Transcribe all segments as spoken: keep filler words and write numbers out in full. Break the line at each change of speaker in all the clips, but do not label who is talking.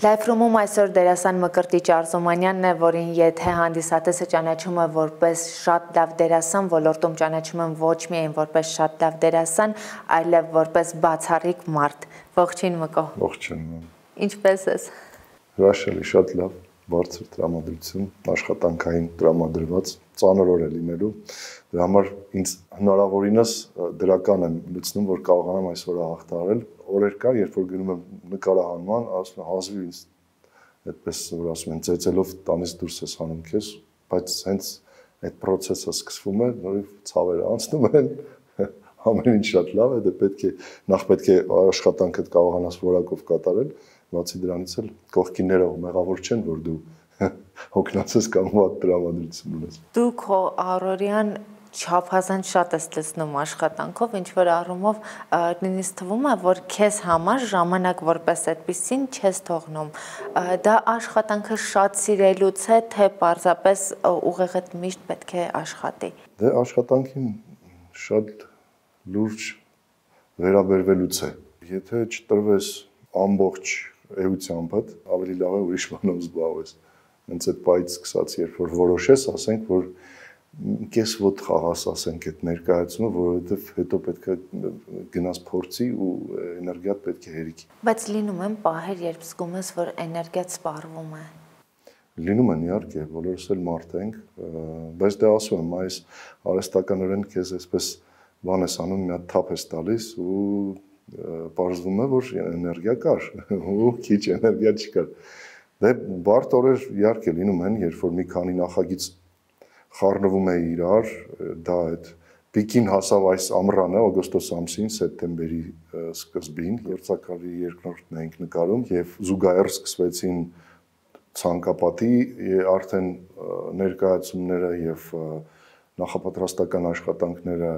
Լայֆրումում այսօր դերասան Մկրտիչ Արզումանյանն է, որին եթե հանդիսատեսը ճանաչում է որպես շատ լավ դերասան, ոլորտում ճանաչում են ոչ միայն որպես շատ լավ դերասան, այլև որպես բացառիկ մարդ։ Ողջույն Մկո։
Ողջույն։
Ինչպե՞ս ես։
Հրաշալի, շատ լավ, բարձր տրամադրություն, աշխատանքային տրամադրված, ծանր օր է լինելու։ Դրա համար ինձ հնարավորինս դրական եմ լուծնում, որ կարողանամ այսօր հաղթահարել։ Օրեր կար, երբ որ գնում եմ նկարահանման, ասում եմ հազվի ինձ այդպես որ ասում են ծեծելով տանից դուրս ես հանում քեզ, բայց հենց այդ process-ը սկսվում է, նորից ցավերը անցնում են, ամեն ինչ շատ լավ է, դե պետք է նախ պետք է աշխատանքդ կարողանաս որակով կատարել, բացի դրանից էլ կողքինները մեղավոր չեն, որ դու հոգնածես կամ վատ տրամադրություն ունես։
Դու քո առօրյան չափազանց շատ ես լցնում աշխատանքով, ինչ որ առումով նույնիսկ թվում է, որ քեզ համար ժամանակ որպես այդպեսին չես թողնում։ Դա աշխատանքը շատ սիրելուց է, թե պարզապես ուղեղդ միշտ պետք է աշխատի։
Դե աշխատանքին շատ լուրջ վերաբերվելուց է։ Եթե չտրվես ամբողջ էությամբ, ավելի լավ է ուրիշ բանով զբաղվես։ Հենց այդ պայից սկսած, երբ որ որոշես, ասենք, որ կես ոտ խաղաս, ասենք, այդ ներկայացումը, որովհետև հետո պետք է գնաս փորձի ու էներգիատ պետք է հերիքի։
Բայց լինում են պահեր, երբ զգում ես, որ էներգիատ սպառվում է։
Լինում են, իհարկե, բոլորս էլ մարդ ենք, բայց դե ասում եմ, այս արհեստականորեն քեզ այսպես բան ես անում, մի հատ թափ ես տալիս ու պարզվում է, որ էներգիա կար, ու քիչ էներգիա չկար։ Դե բարդ օրեր իհարկե լինում են, երբ որ մի քանի նախագիծ խառնվում է իրար, դա այդ պիկին հասավ այս ամռանը, օգոստոս ամսին, սեպտեմբերի սկզբին, գործակալի երկրորդն էինք նկարում եւ զուգահեռ սկսվեցին ցանկապատի արդեն ներկայացումները եւ նախապատրաստական աշխատանքները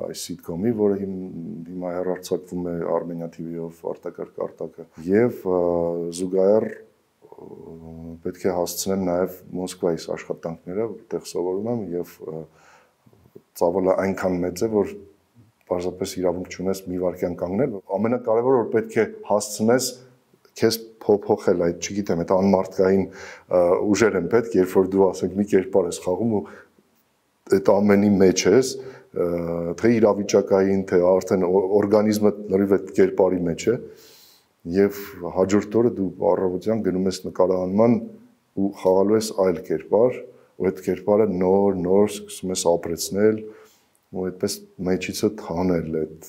այս սիտկոմի, որը հիմա հեռարձակվում է Armenia T V-ով արտակարգ արտակը եւ զուգահեռ պետք է հասցնեմ նաև Մոսկվայից աշխատանքները, որտեղ սովորում եմ եւ ծավալը այնքան մեծ է, որ պարզապես իրավունք չունես մի վայրկյան կանգնել։ Ամենակարևորը որ պետք է հասցնես քեզ փոփոխել այդ, չգիտեմ, այդ անմարդկային ուժեր են պետք, երբ որ դու ասենք մի կերպար ես խաղում ու այդ ամենի մեջ ես, թե իրավիճակային, թե արդեն օրգանիզմը լրիվ այդ կերպարի մեջ է։ Եվ հաջորդ օրը դու առավոտյան գնում ես նկարահանման ու խաղալու ես այլ կերպար, ու այդ կերպարը նոր, նոր սկսում ես ապրեցնել, ու այդպես մեջիցդ հանել այդ,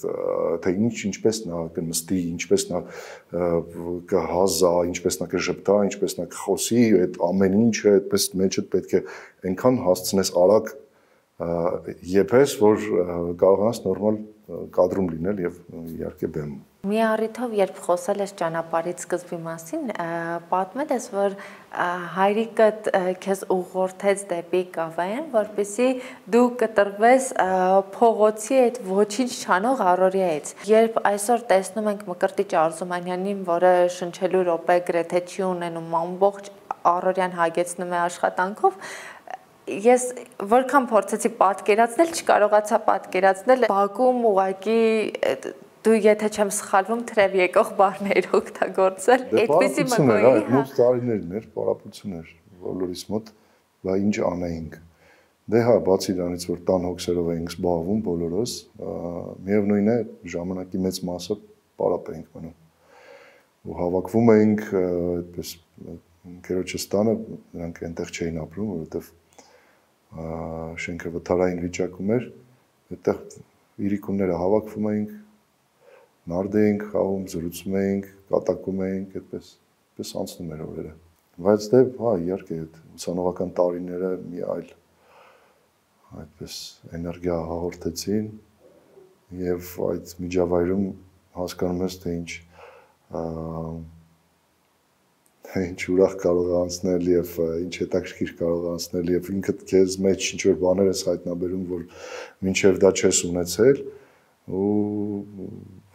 թե ինչ, ինչպես նա կնստի, ինչպես նա կհազա, ինչպես նա կժպտա, ինչպես նա կխոսի, այդ ամեն ինչը այդպես մեջդ պետք է այնքան հասցնես արագ եփես, որ կարողանաս նորմալ կադրում լինել եւ իհարկե բեմում։
Մի առիթով, երբ խոսել ես ճանապարհից սկզբի մասին, պատմել ես, որ հայրիկդ քեզ ուղղորդեց դեպի Կավայան, որպեսզի դու կտրվես փողոցի այդ ոչինչ չանող առօրյայից։ Երբ այսօր տեսնում ենք Մկրտիչ Արզումանյանին, որը շնչելու րոպե գրեթե չի ունենում, ամբողջ առօրյան հագեցնում է աշխատանքով, ես որքան փորձեցի պատկերացնել, չկարողացա պատկերացնել Բաքում ուղակի դու եթե չեմ սխալվում թրև եկող բառներ օգտագործել, այդպեսի մկոյի,
հա։ Մոտ տարիներն էր, պարապություն էր բոլորիս մոտ, բա ինչ անեինք։ Դե հա, բացի դրանից, որ տան հոգսերով էինք զբաղվում բոլորս, միևնույն է, ժամանակի մեծ մասը պարապ էինք մնում։ Ու հավաքվում էինք, այդպես ընկերոջս տանը, նրանք այնտեղ չէին ապրում, որովհետև շենքը վթարային վիճակում էր, այդտեղ իրիկունները հավաքվում էինք, նարդ էինք խաղում, զրուցում էինք, կատակում էինք, այդպես, այդպես անցնում էր օրերը։ Բայց դե, հա, իհարկե, այդ ուսանողական տարիները մի այլ այդպես էներգիա հաղորդեցին եւ այդ միջավայրում հասկանում ես, թե ինչ ինչ ուրախ կարող անցնել եւ ինչ հետաքրքիր կարող անցնել եւ ինքդ քեզ մեջ ինչ որ բաներ ես հայտնաբերում, որ մինչեւ դա չես ունեցել ու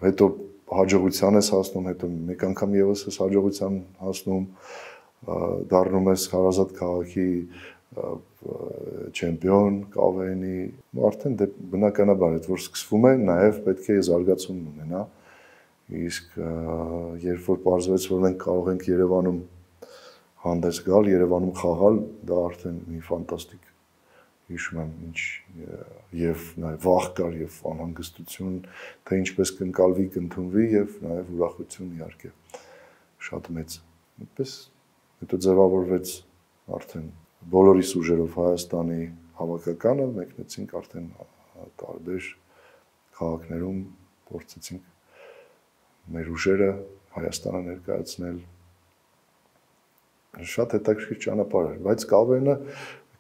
հետո հաջողության ես հասնում, հետո մեկ անգամ եւս ես հաջողության հասնում, դառնում ես հարազատ քաղաքի չեմպիոն կավենի, արդեն դե բնականաբար այդ որ սկսվում է, նաև պետք է զարգացում ունենա։ Իսկ երբ որ պարզվեց, որ մենք կարող ենք Երևանում հանդես գալ, Երևանում խաղալ, դա արդեն մի ֆանտաստիկ հիշում եմ, ինչ եւ նաև վախ կար եւ անհանգստություն, թե ինչպես կընկալվի, կընդունվի եւ նաև ուրախություն իհարկե շատ մեծ։ Այդպես հետո ձևավորվեց արդեն բոլորիս ուժերով Հայաստանի հավաքականը, մեկնեցինք արդեն տարբեր քաղաքներում, փորձեցինք մեր ուժերը Հայաստանը ներկայացնել։ Շատ հետաքրքիր ճանապարհ էր, բայց կավենը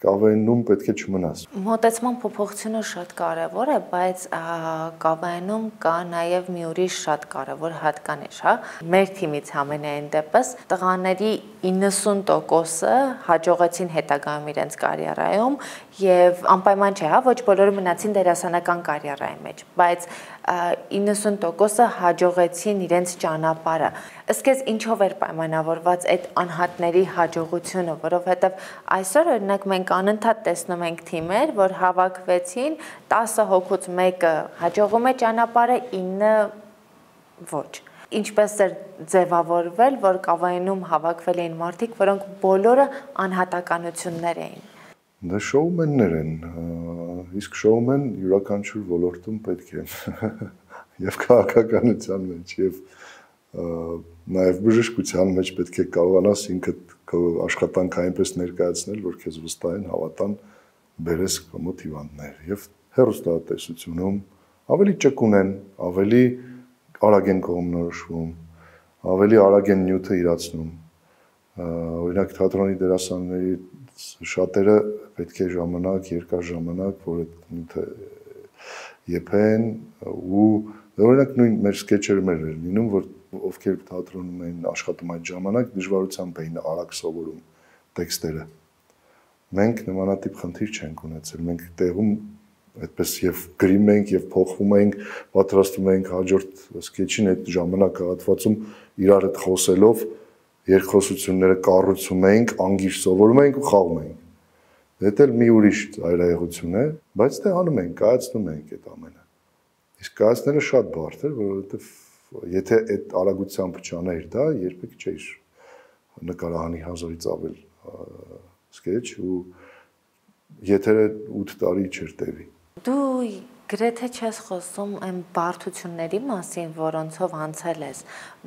կավենում պետք է չմնաս։
Մոտեցման փոփոխությունը շատ կարևոր է, բայց կավենում կա նաև մի ուրիշ շատ կարևոր հատկանիշ, հա։ Մեր թիմից համենայն դեպս տղաների իննսուն տոկոսը հաջողեցին հետագայում իրենց կարիերայում եւ անպայման չէ, հա, ոչ բոլորը մնացին դերասանական կարիերայի մեջ, բայց իննսուն տոկոսը հաջողեցին իրենց ճանապարհը։ Ըստ քեզ ինչով էր պայմանավորված այդ անհատների հաջողությունը, որովհետեւ այսօր օրինակ մենք անընդհատ տեսնում ենք թիմեր, որ հավաքվեցին, տասը հոգուց մեկը հաջողում է ճանապարհը, ինը ոչ։ Ինչպես էր ձևավորվել, որ կավայնում հավաքվել էին մարդիկ, որոնք բոլորը անհատականություններ էին։
Դա շոումեններ են, իսկ շոումեն յուրաքանչյուր ոլորտում պետք է եւ քաղաքականության մեջ եւ նաեւ բժշկության մեջ պետք է կարողանաս ինքդ քո աշխատանքը այնպես ներկայացնել, որ քեզ վստահեն, հավատան, բերես կոմոդ հիվանդներ եւ հեռուստատեսությունում ավելի ճկուն են, ավելի արագ են կողմնորոշվում, ավելի արագ են նյութը իրացնում։ Օրինակ թատրոնի դերասանների շատերը պետք է ժամանակ, երկար ժամանակ, որ այդ նյութը եփեն ու օրինակ նույն մեր սկեչերը մեր էր լինում, որ ովքեր թատրոնում էին աշխատում այդ ժամանակ, դժվարությամբ էին արագ սովորում տեքստերը։ Մենք նմանատիպ խնդիր չենք ունեցել։ Մենք տեղում այդպես եւ գրում ենք եւ փոխվում ենք, պատրաստում ենք հաջորդ սկեչին այդ ժամանակահատվածում իրար հետ խոսելով երկխոսությունները կառուցում ենք, անգիր սովորում ենք ու խաղում ենք։ Դա էլ մի ուրիշ այրայեղություն է, բայց դե անում ենք, կայացնում ենք այդ ամենը։ Իսկ կայացնելը շատ բարդ էր, որովհետեւ եթե այդ արագությամբ չաներ դա, երբեք չէր նկարահանի հազարից ավել սկեչ ու եթերը ութ տարի չէր տևի։
Դու գրեթե չես խոսում այն բարդությունների մասին, որոնցով անցել ես,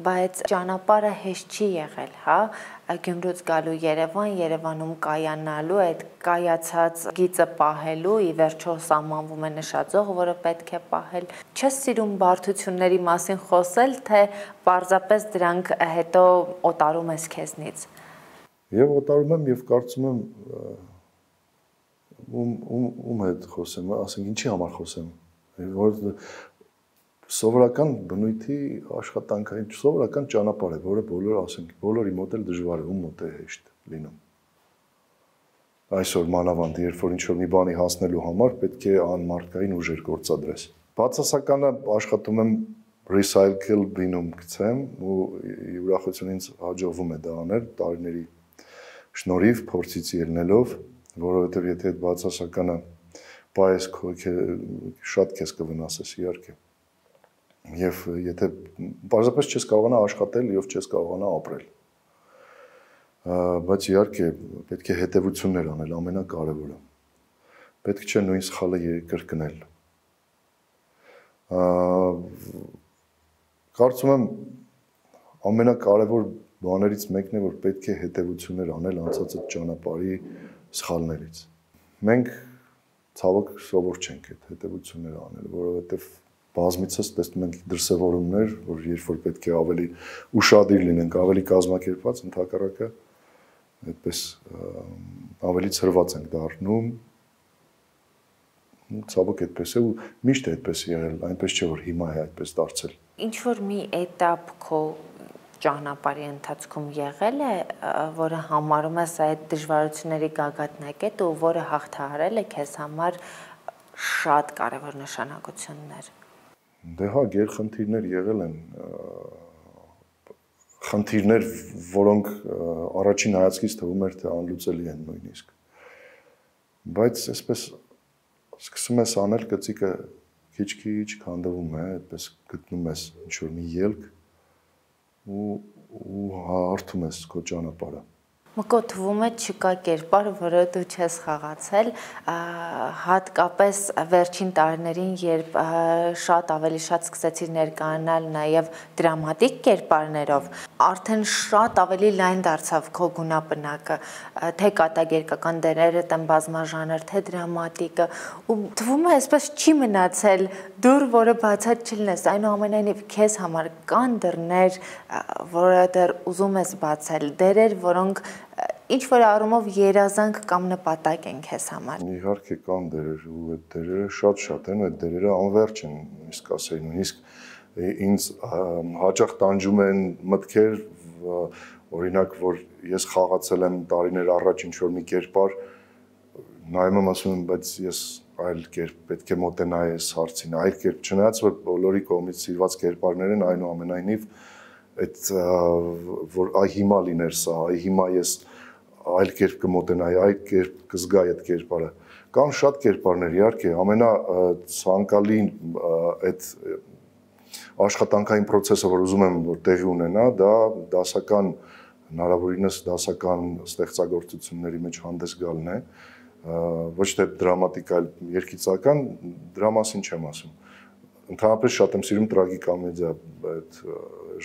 բայց ճանապարհը հեշտ չի եղել, հա, Գյումրուց գալու Երևան, Երևանում կայանալու, այդ կայացած գիծը պահելու, ի վերջո սահմանվում է նշաձող, որը պետք է պահել։ Չես սիրում բարդությունների մասին խոսել, թե պարզապես դրանք հետո օտարում ես քեզնից։
Եվ օտարում եմ եւ կարծում եմ ում ում ում հետ խոսեմ, ասենք ինչի համար խոսեմ, որ սովորական բնույթի աշխատանքային սովորական ճանապարհ է, որը բոլորը ասենք, բոլորի մոտ էլ դժվար է, ում մոտ է հեշտ լինում։ Այսօր մանավանդ, երբ որ ինչ-որ մի բանի հասնելու համար պետք է անմարդկային ուժեր գործադրես։ Բացասականը աշխատում եմ recycle բինում գցեմ ու ուրախություն ինձ հաջողվում է դա անել տարիների շնորհիվ փորձից ելնելով, որովհետև եթե այդ բացասականը պայես շատ քեզ կվնասես իհարկե։ Եվ եթե պարզապես չես կարողանա աշխատել եւ չես կարողանա ապրել։ Բայց իհարկե պետք է հետևություններ անել, ամենակարևորը։ Պետք չէ նույն սխալը կրկնել։ Կարծում եմ ամենակարևոր բաներից մեկն է, որ պետք է հետևություններ անել անցած այդ ճանապարհի սխալներից։ Մենք ցավոք սովոր չենք այդ հետևությունները անել, որովհետև բազմիցս տեսնում ենք դրսևորումներ, որ երբ որ պետք է ավելի ուշադիր լինենք, ավելի կազմակերպված, ընդհակառակը այդպես ավելի ցրված ենք դառնում։ Ցավոք այդպես է ու միշտ է այդպես եղել, այնպես չէ որ հիմա է այդպես դարձել։
Ինչ որ մի էտապ քո ճանապարհի ընթացքում եղել է, որը համարում ես այդ դժվարությունների գագաթնակետ ու որը հաղթահարել է քեզ համար շատ կարևոր նշանակություններ։
Դե հա, գերխնդիրներ եղել են, խնդիրներ, որոնք առաջին հայացքից թվում էր թե անլուծելի են նույնիսկ։ Բայց այսպես սկսում ես անել գծիկը քիչ-քիչ քանդվում է, այդպես գտնում ես ինչ-որ մի ելք ու ու հարթում ես քո ճանապարհը։
Մկո թվում է չկա կերպար, որը դու չես խաղացել, հատկապես վերջին տարիներին, երբ շատ ավելի շատ սկսեցիր ներկայանալ նաև դրամատիկ կերպարներով, արդեն շատ ավելի լայն դարձավ քո գունապնակը, թե կատակերգական դերերը, թե բազմաժանր, թե դրամատիկը, ու թվում է այսպես չի մնացել դուր, որը բացած չլինես, այնուամենայնիվ քեզ համար կան դռներ, որը դեռ ուզում ես բացել, դերեր, որոնք ինչ որ առումով երազանք կամ նպատակ են քեզ համար։
Իհարկե կան դերեր ու այդ դերերը շատ-շատ են, այդ դերերը անվերջ են, իսկ ասեի նույնիսկ ինձ հաճախ տանջում են մտքեր, օրինակ որ ես խաղացել եմ տարիներ առաջ ինչ որ մի կերպար, նայում եմ ասում եմ, բայց ես այլ կերպ պետք է մոտենայի այս հարցին, այլ կերպ չնայած որ բոլորի կողմից սիրված կերպարներ են, այնուամենայնիվ այդ որ այ հիմա լիներ սա, այ հիմա ես այլ կերպ կմոտենայի, այլ կերպ կզգայի այդ կերպարը։ Կան շատ կերպարներ, իհարկե, ամենացանկալի այդ աշխատանքային process-ը, որ ուզում եմ որ տեղի ունենա, դա դասական, հնարավորինս դասական ստեղծագործությունների մեջ հանդես գալն է, ոչ թե դրամատիկ, այլ երգիծական, դրա մասին չեմ ասում։ Ընդհանրապես շատ եմ սիրում տրագիկոմեդիա այդ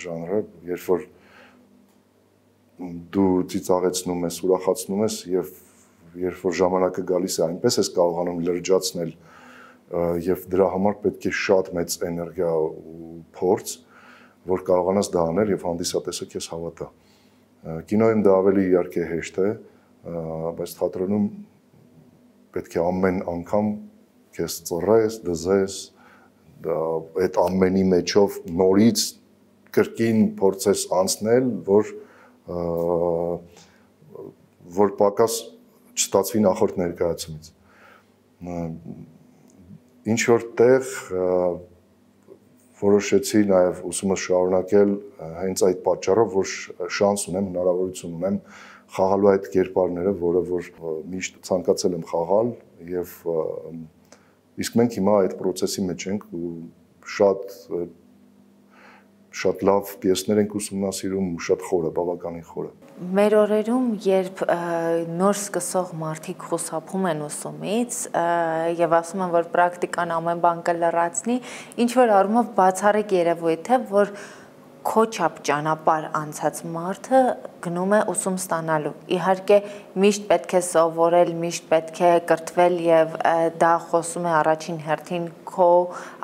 ժանրը, երբ որ դու ծիծաղեցնում ես, ուրախացնում ես եւ երբ որ ժամանակը գալիս է, այնպես ես կարողանում լրջացնել եւ դրա համար պետք է շատ մեծ էներգիա ու փորձ, որ կարողանաս դա անել եւ հանդիսատեսը քեզ հավատա։ Կինոյում դա ավելի իհարկե հեշտ է, բայց թատրոնում պետք է ամեն անգամ քեզ ծռես, դզես, այդ ամենի մեջով նորից կրկին փորձես անցնել, որ որ պակաս չստացվի նախորդ ներկայացումից։ Ինչ որ տեղ որոշեցի նաև ուսումս շարունակել հենց այդ պատճառով, որ շանս ունեմ, հնարավորություն ունեմ խաղալու այդ կերպարները, որը որ միշտ ցանկացել եմ խաղալ եւ իսկ մենք հիմա այդ process-ի մեջ ենք ու շատ շատ լավ պիեսներ ենք ուսումնասիրում ու շատ խորը, բավականին խորը։
Մեր օրերում, երբ նոր սկսող մարդիկ խուսափում են ուսումից եւ ասում են, որ պրակտիկան ամեն բան կլրացնի, ինչ որ առումով բացառիկ երևույթ է, որ քո չափ ճանապարհ անցած մարդը գնում է ուսում ստանալու։ Իհարկե, միշտ պետք է սովորել, միշտ պետք է կրթվել եւ դա խոսում է առաջին հերթին քո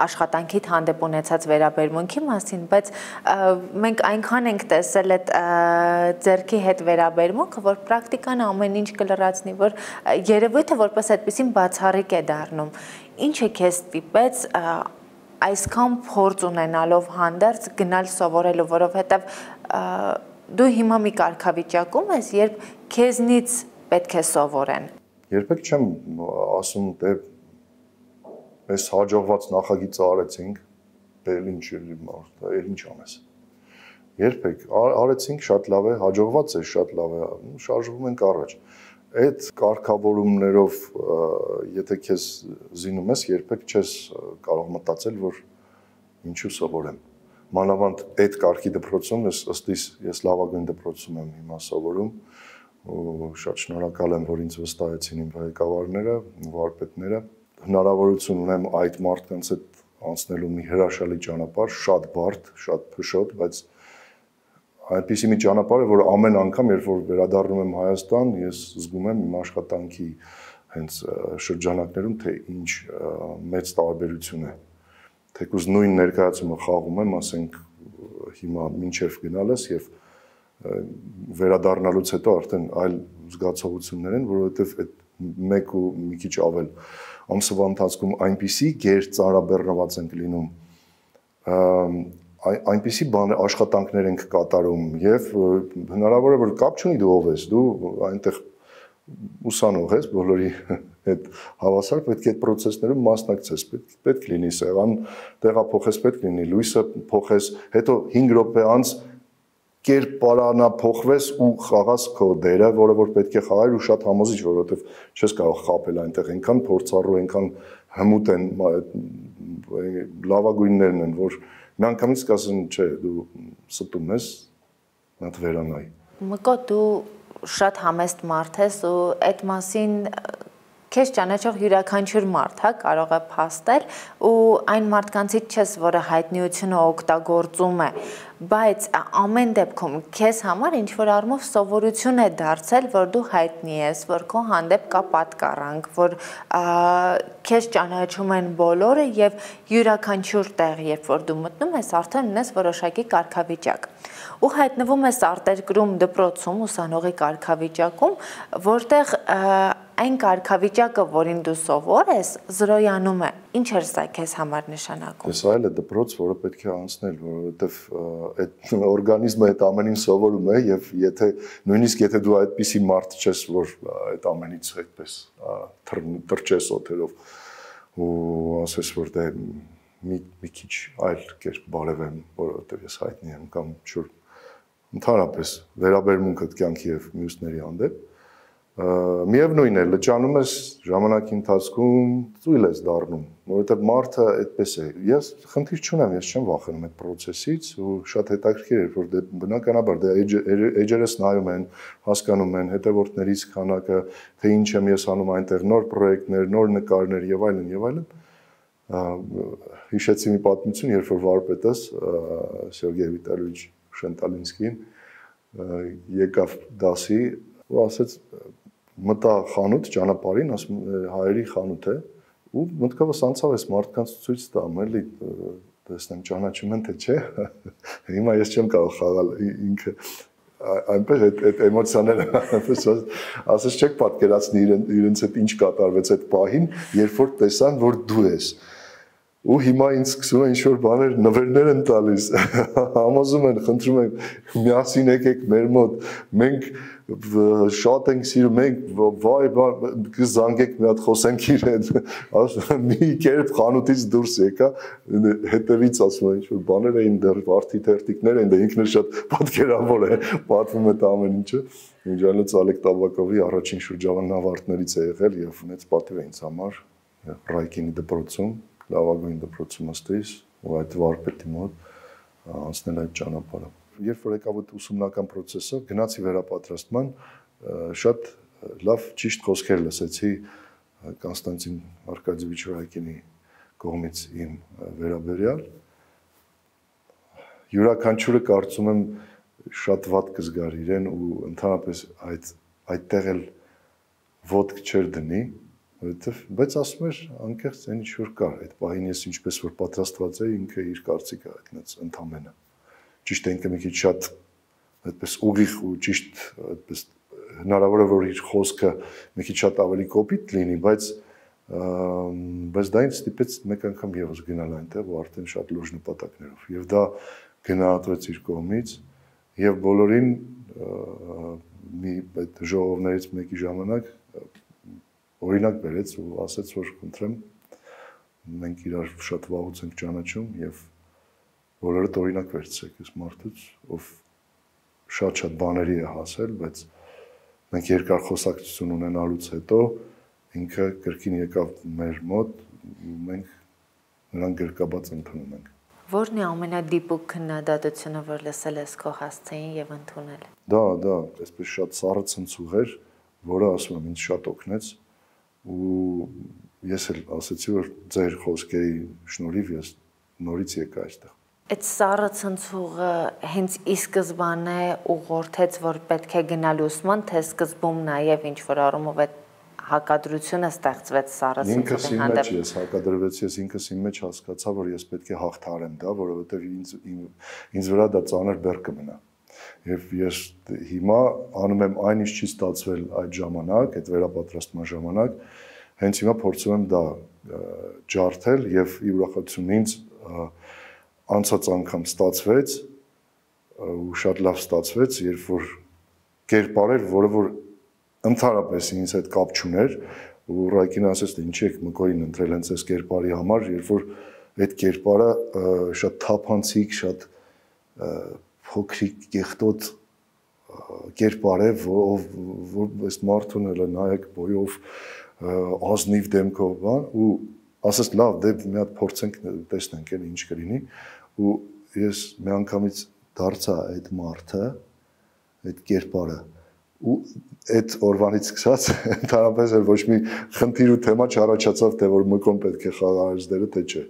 աշխատանքիդ հանդեպ ունեցած վերաբերմունքի մասին, բայց մենք այնքան ենք տեսել այդ ձեռքի հետ վերաբերմունքը, որ պրակտիկան ամեն ինչ կլրացնի, որ երևույթը որպես այդպեսին բացառիկ է դառնում։ Ինչը քեզ ստիպեց այսքան փորձ ունենալով հանդերձ գնալ սովորելու, որովհետև դու հիմա մի կարգավիճակում ես, երբ քեզնից պետք է սովորեն։
Երբեք չեմ ասում, թե այս հաջողված նախագիծը արեցինք, էլ ինչ էլ ինչ անես։ Երբեք արեցինք, շատ լավ է, հաջողված է, շատ լավ է, շարժվում ենք առաջ։ Այդ կարգավորումներով, եթե քեզ զինում ես, երբեք չես կարող մտածել, որ ինչու սովորեմ։ Մանավանդ այդ կարգի դպրոցում ըստ իս ես լավագույն դպրոցում եմ հիմա սովորում ու շատ շնորհակալ եմ, որ ինձ վստահեցին իմ ղեկավարները, վարպետները։ Հնարավորություն ունեմ այդ մարդկանց հետ անցնելու մի հրաշալի ճանապարհ, շատ բարդ, շատ փշոտ, բայց այնպիսի մի ճանապարհ է, որ ամեն անգամ, երբ որ վերադառնում եմ Հայաստան, ես զգում եմ իմ աշխատանքի հենց շրջանակներում, թե ինչ մեծ տարբերություն է։ Թեկուզ նույն ներկայացումը խաղում եմ, ասենք հիմա մինչև գնալս եւ վերադառնալուց հետո արդեն այլ զգացողություններ են, որովհետեւ այդ մեկ ու մի քիչ ավել ամսվա ընթացքում այնպիսի գեր ծարաբեռնված ենք լինում, այնպիսի բան աշխատանքներ ենք կատարում եւ հնարավոր է որ կապ չունի դու ով ես, դու այնտեղ ուսանող ես, բոլորի հետ հավասար պետք է այդ process-ներում մասնակցես, պետք լինի սեղան տեղափոխես, պետք լինի լույսը փոխես, հետո հինգ րոպե անց կերպարանափոխվես ու խաղաս քո դերը, որը որ պետք է խաղայր ու շատ համոզիչ, որովհետև չես կարող խաբել այնտեղ, այնքան փորձառու, այնքան հմուտ են, լավագույններն են, որ միանգամից կասեն, չէ, դու ստում ես, նա վերանայ։
Մկո, դու շատ համեստ մարդ ես ու այդ մասին քեզ ճանաչող յուրաքանչյուր մարդ, հա, կարող է փաստել ու այն մարդկանցից չես, որը հայտնիությունը օգտագործում է, բայց ամեն դեպքում քեզ համար ինչ որ առումով սովորություն է դարձել, որ դու հայտնի ես, որ քո հանդեպ կա պատկառանք, որ քեզ ճանաչում են բոլորը եւ յուրաքանչյուր տեղ, երբ որ դու մտնում ես, արդեն ունես որոշակի կարգավիճակ։ Ու հայտնվում ես արտերկրում դպրոցում ուսանողի կարգավիճակում, որտեղ այն կարգավիճակը, որին դու սովոր ես, զրոյանում է։ Ինչ էր սա քեզ համար նշանակում։
Ես այլ է դպրոց, որը պետք է անցնել, որովհետև այդ օրգանիզմը այդ ամենին սովորում է եւ եթե նույնիսկ եթե դու այդպիսի մարդ չես, որ այդ ամենից այդպես թրջես օթերով ու ասես որ դե մի մի քիչ այլ կերպ բարևեմ, որովհետև ես հայտնի եմ կամ չոր ընդհանրապես վերաբերմունքդ կյանքի եւ մյուսների հանդեպ միևնույն է լճանում ես ժամանակի ընթացքում ծույլ ես դառնում որովհետեւ մարդը այդպես է ես խնդիր չունեմ ես չեմ վախենում այդ process-ից ու շատ հետաքրքիր է որ դե բնականաբար դե էջերս նայում են հասկանում են հետևորդներից քանակը թե ինչ եմ ես անում այնտեղ նոր պրոյեկտներ նոր նկարներ եւ այլն եւ այլն հիշեցի մի պատմություն երբ որ վարպետս Սերգեյ Վիտալիևիչ Շենտալինսկին եկավ դասի ու ասեց մտա խանութ ճանապարհին ասում հայերի խանութ է ու մտքովս անցավ այս մարդկանց ցույց տամ էլի տեսնեմ ճանաչում են թե չէ հիմա ես չեմ կարող խաղալ ինքը այնպես այդ այդ էմոցիաները ասես չեք պատկերացնի իրենց հետ ինչ կատարվեց այդ պահին երբ որ տեսան որ դու ես ու հիմա ինձ սկսում են ինչ-որ բաներ նվերներ են տալիս համոզում են խնդրում են միասին եկեք մեր մոտ մենք շատ ենք սիրում մենք վայ կզանգեք մի հատ խոսենք իրեն մի կերպ խանութից դուրս եկա հետևից ասում են ինչ-որ բաներ էին դեռ վարդի թերթիկներ են դա ինքն շատ պատկերավոր է պատմում է ամեն ինչը Ինջանոց Ալեկ Տաբակովի առաջին շրջանավարտներից է եղել եւ ունեց պատիվ է ինձ համար Ռայկինի դպրոցում լավագույն դպրոցում ըստիս ու այդ վարպետի մոտ անցնել այդ ճանապարհը։ Երբ որ եկավ այդ ուսումնական process-ը, գնացի վերապատրաստման, շատ լավ ճիշտ խոսքեր լսեցի Կոնստանտին Արկադիևիչ Ռայկինի կողմից իմ վերաբերյալ։ Յուրաքանչյուրը կարծում եմ շատ վատ կզգար իրեն ու ընդհանրապես այդ այդտեղ էլ ոտք չեր դնի Որովհետև բայց ասում էր անկեղծ այն ինչ որ կար այդ պահին ես ինչպես որ պատրաստված էի ինքը իր կարծիքը հայտնեց ընդամենը ճիշտ է ինքը մի քիչ շատ այդպես ուղիղ ու ճիշտ այդպես հնարավոր է որ իր խոսքը մի քիչ շատ ավելի կոպիտ լինի բայց բայց դա ինձ ստիպեց մեկ անգամ եւս գնալ այնտեղ ու արդեն շատ լուրջ նպատակներով եւ դա գնահատվեց իր կողմից եւ բոլորին մի այդ ժողովներից մեկի ժամանակ օրինակ բերեց ու ասեց որ խնդրեմ մենք իրար շատ վաղուց ենք ճանաչում եւ բոլորդ օրինակ վերցրեք այս մարդուց ով շատ-շատ բաների է հասել բայց մենք երկար խոսակցություն ունենալուց հետո ինքը կրկին եկավ մեր մոտ ու մենք նրան գրկաբաց ընդունում ենք
Որն է ամենադիպուկ քննադատությունը որ լսել ես քո հասցեին եւ ընդունել
Դա դա այսպես շատ սառը ցնցուղ էր որը ասում եմ ինձ շատ օգնեց ու ես էլ ասացի որ ձեր խոսքերի շնորհիվ ես նորից եկա այստեղ
Այդ սառը ցնցուղը հենց ի սկզբանե ուղղորդեց որ պետք է գնալ ուսման թե սկզբում նաև ինչ որ առումով այդ հակադրությունը ստեղծվեց սառը ցնցուղի
հանդեպ Ինքս ես հակադրվեցի ես ինքս իմ մեջ հասկացա որ ես պետք է հաղթարեմ դա որովհետև ինձ ինձ վրա դա ծանր բեռ կմնա Եվ ես հիմա անում եմ այն ինչ չի ստացվել այդ ժամանակ, այդ վերապատրաստման ժամանակ, հենց հիմա փորձում եմ դա ջարդել եւ ի ուրախացություն ինձ անցած անգամ ստացվեց ու շատ լավ ստացվեց, երբ որ կերպարեր, որը որ ընդհանրապես ինձ հետ կապ չուներ, ու Ռայկինը ասեց, թե ինչի եք Մկոյին ընտրել հենց այս կերպարի համար, երբ որ այդ կերպարը շատ թափանցիկ, շատ փոքրիկ կեղտոտ կերպար է, որ այս մարդուն էլ նայեք բոյով ազնիվ դեմքով, բան, ու ասես լավ, դե մի հատ փորձենք տեսնենք էլ ինչ կլինի, ու ես մի անգամից դարձա այդ մարդը, այդ կերպարը, ու այդ օրվանից սկսած ընդհանրապես էլ ոչ մի խնդիր ու թեմա չառաջացավ, թե որ Մկոն պետք է խաղարարից դերը, թե չէ։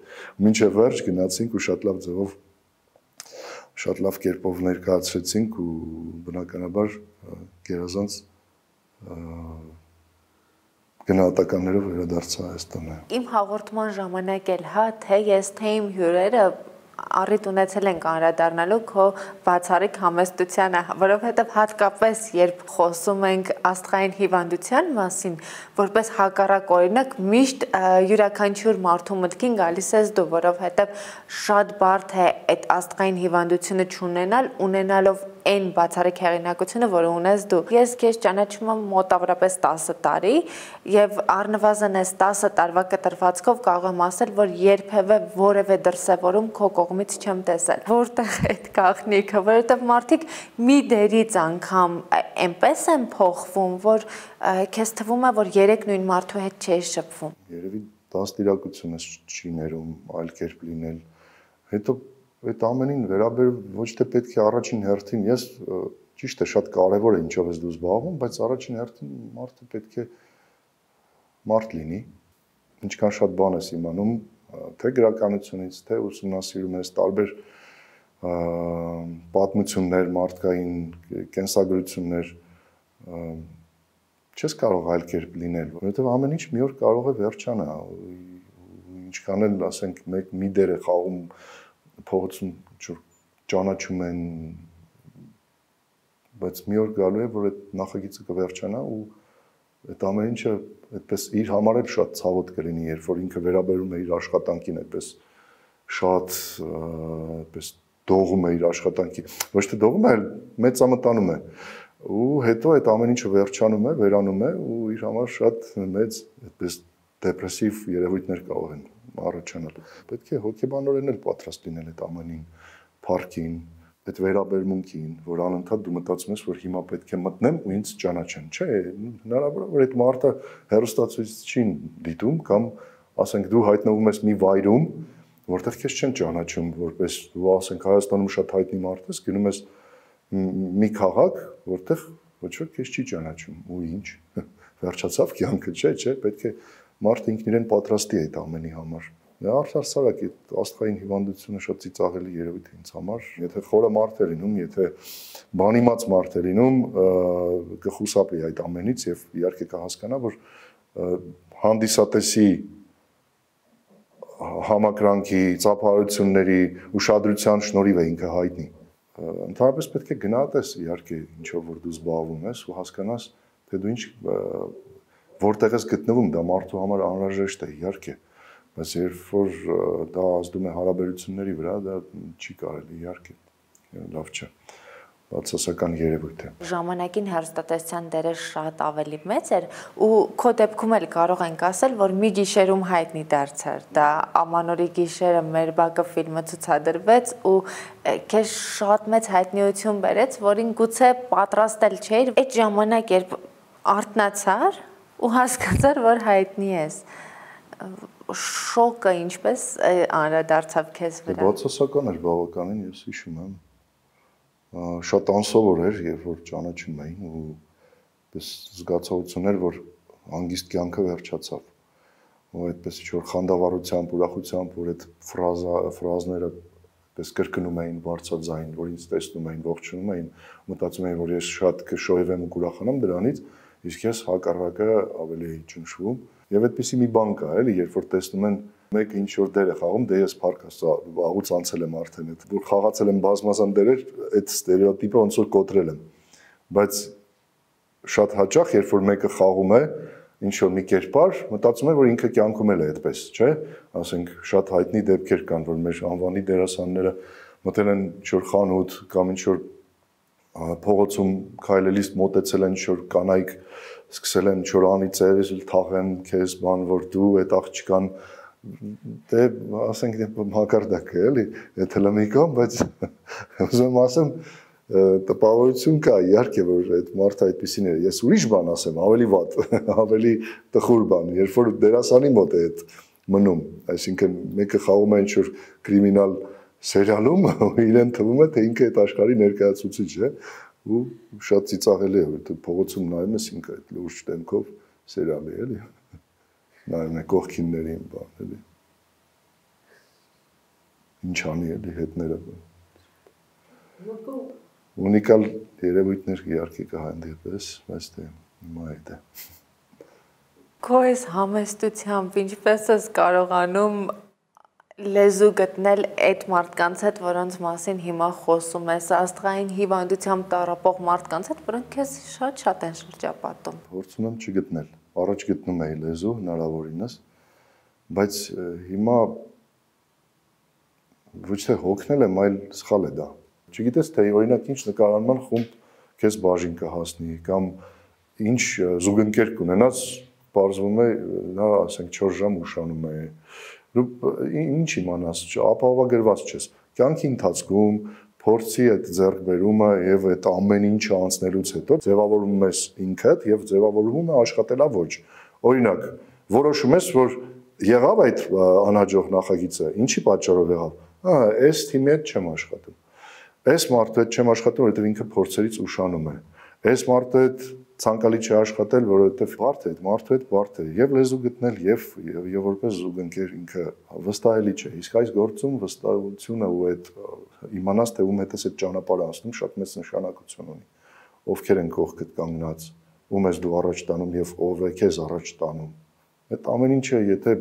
Մինչև վերջ գնացինք ու շատ լավ ձևով շատ լավ կերպով ներկայացրեցինք ու բնականաբար գերազանց գնահատականներով վերադարձա Հայաստանը։
Իմ հաղորդման ժամանակ էլ հա, թե ես, թե իմ հյուրերը առիթ ունեցել ենք անդրադառնալու քո բացառիկ համեստությանը, որովհետև հատկապես երբ խոսում ենք աստղային հիվանդության մասին, որպես հակառակ օրինակ միշտ յուրաքանչյուր մարդու մտքին գալիս ես դու, որովհետև շատ բարդ է այդ աստղային հիվանդությունը չունենալ, ունենալով այն բացառիկ հեղինակությունը, որը ունես դու։ Ես քեզ ճանաչում եմ մոտավորապես տասը տարի եւ առնվազն այս տասը տարվա կտրվածքով կարող եմ ասել, որ երբևէ որևէ դրսևորում քո կողմից չեմ տեսել։ Որտեղ այդ գաղտնիքը, որովհետեւ մարդիկ մի դերից անգամ այնպես են փոխվում, որ քեզ թվում է, որ երեք նույն մարդու հետ չէի շփվում։
Երևի դաստիարակությունս չի ներում այլ կերպ լինել։ Հետո այդ ամենին վերաբերում ոչ թե պետք է առաջին հերթին, ես ճիշտ է շատ կարևոր է ինչով ես դու զբաղվում, բայց առաջին հերթին մարդը պետք է մարդ լինի, ինչքան շատ բան ես իմանում, թե գրականությունից, թե ուսումնասիրում ես տարբեր պատմություններ, մարդկային կենսագրություններ, չես կարող այլ կերպ լինել, որովհետև ամեն ինչ մի օր կարող է վերջանա, ինչքան էլ ասենք մեկ մի դեր է խաղում փողոցում ճանաչում են, բայց մի օր գալու է, որ այդ նախագիծը կվերջանա ու այդ ամեն ինչը այդպես իր համար էլ շատ ցավոտ կլինի, երբ որ ինքը վերաբերում է իր աշխատանքին այդպես շատ այդպես դողում է իր աշխատանքին, ոչ թե դողում է, այլ մեծամտանում է ու հետո այդ ամեն ինչը վերջանում է, վերանում է ու իր համար շատ մեծ այդպես դեպրեսիվ երևույթներ կարող են առաջանալ։ Պետք է հոգեբանորեն էլ պատրաստ լինել այդ ամենին, փառքին, այդ վերաբերմունքին, որ անընդհատ դու մտածում ես, որ հիմա պետք է մտնեմ ու ինձ ճանաչեն, չէ, հնարավոր է, որ այդ մարդը հեռուստացույցին դիտում կամ ասենք դու հայտնվում ես մի վայրում, որտեղ քեզ չեն ճանաչում, որպես դու ասենք Հայաստանում շատ հայտնի մարդ ես, գնում ես մի քաղաք, որտեղ ոչ ոք քեզ չի ճանաչում, ու ինչ, վերջացավ կյանքը, չէ, չէ, պետք է մարդը ինքն իրեն պատրաստի է այդ ամենի համար։ Արդարսարակ այդ աստղային հիվանդությունը շատ ծիծաղելի երևույթ է ինձ համար, եթե խորը մարդ է լինում, եթե բանիմաց մարդ է լինում, կխուսափի այդ ամենից եւ իհարկե կհասկանա, որ հանդիսատեսի համակրանքի, ծափարությունների, ուշադրության շնորհիվ է ինքը հայտնի։ Ընդհանրապես պետք է գնահատես իհարկե ինչով որ դու զբաղվում ես ու հասկանաս, թե դու ինչ որտեղ ես գտնվում, դա մարդու համար անհրաժեշտ է, իհարկե, բայց երբ որ դա ազդում է հարաբերությունների վրա, դա չի կարելի, իհարկե, լավ չէ, բացասական երևույթ է։
Ժամանակին հեռուստատեսության դերը շատ ավելի մեծ էր ու քո դեպքում էլ կարող ենք ասել, որ մի գիշերում հայտնի դարձար, դա Ամանորի գիշերը մեր բակը ֆիլմը ցուցադրվեց ու քեզ շատ մեծ հայտնիություն բերեց, որին գուցե պատրաստել չէիր, այդ ժամանակ երբ արթնացար ու հասկացար, որ հայտնի ես, շոկը ինչպես անդրադարձավ քեզ վրա։
Բացասական էր բավականին, ես հիշում եմ, շատ անսովոր էր, երբ որ ճանաչում էին ու պես զգացողություն էր, որ հանգիստ կյանքը վերջացավ, ու այդպես ինչ-որ խանդավառությամբ, ուրախությամբ, որ այդ ֆրազները պես կրկնում էին բարձրաձայն, որ ինձ տեսնում էին, ողջունում էին, մտածում էին, որ ես շատ կշոյվեմ ու կուրախանամ դրանից, իսկ ես հակառակը ավելի էի ճնշվում, եւ այդպեսի մի բան կա, էլի, երբ որ տեսնում են մեկը ինչ որ դեր է խաղում, դե ես փառք վաղուց անցել եմ արդեն այդ, որ խաղացել եմ բազմազան դերեր, այդ ստերեոտիպը ոնց որ կոտրել եմ, բայց շատ հաճախ, երբ որ մեկը խաղում է ինչ որ մի կերպար, մտածում եմ, որ ինքը կյանքում էլ է այդպես, չէ՞, ասենք շատ հայտնի դեպքեր կան, որ մեր անվանի դերասանները մտել են ինչ որ խանութ կամ ինչ որ փողոցում քայլելիս մոտեցել են ինչ որ կանայք սկսել են ինչ որ անիծել, թաղեն քեզ բան, որ դու այդ աղջկան դե ասենք մակարդակը էլի, եթե լմիկոն, բայց ուզում ասեմ տպավորություն կա, իհարկե որ այդ մարդը այդպեսին է։ Ես ուրիշ բան ասեմ, ավելի վատ, ավելի տխուր բան, երբ որ դերասանի մոտ է այդ մնում, այսինքն մեկը խաղում է ինչ-որ կրիմինալ սերիալում, իրեն թվում է, թե ինքը այդ աշխարհի ներկայացուցիչ է, ու շատ ծիծաղելի է, որ փողոցում նայում ես ինքը այդ լուրջ դեմքով սերիալի, էլի։ Նայում է կողքիններին, բան, էլի։ Ինչ անի էլի հետները։ Ունիկալ երևույթներ իհարկե կհանդիպես, բայց դե հիմա այդ է։
Քո այս համեստությամբ ինչպես ես կարողանում լեզու գտնել այդ մարդկանց հետ, որոնց մասին հիմա խոսում ես, աստղային հիվանդությամբ տառապող մարդկանց հետ, որոնք քեզ շատ-շատ են շրջապատում։
Փորձում եմ չգտնել։ Առաջ գտնում էի լեզու հնարավորինս, բայց հիմա ոչ թե հոգնել եմ, այլ սխալ է դա։ Չգիտես, թե օրինակ ինչ նկարանման խումբ քեզ բաժին կհասնի կամ ինչ զուգընկեր կունենաս, պարզվում է նա, ասենք, չորս ժամ ուշանում է։ Ինչ իմանաս, ապահովագրված չես։ Կյանքի ընթացքում փորձի այդ ձեռքբերումը եւ այդ ամեն ինչը անցնելուց հետո ձևավորում ես ինքդ եւ ձևավորվում է աշխատելավոճ։ Օրինակ, որոշում ես, որ եղավ այդ անհաջող նախագիծը, ինչի պատճառով եղավ։ Ահա, այս թիմի հետ չեմ աշխատում։ Այս մարդու հետ չեմ աշխատում, որովհետև ինքը փորձերից ուշանում է։ Այս մարդու հետ ցանկալի չի աշխատել, որովհետև բարդ է, մարդու հետ բարդ է, եւ լեզու գտնել, եւ եւ որպես զուգընկեր ինքը վստահելի չէ։ Իսկ այս գործում վստահությունը ու այդ իմանաս թե ում հետ ես այդ ճանապարհը անցնում շատ մեծ նշանակություն ունի։ Ովքեր են կողքդ կանգնած, ում ես դու առաջ տանում եւ ով է քեզ առաջ տանում։ Այդ ամեն ինչը եթե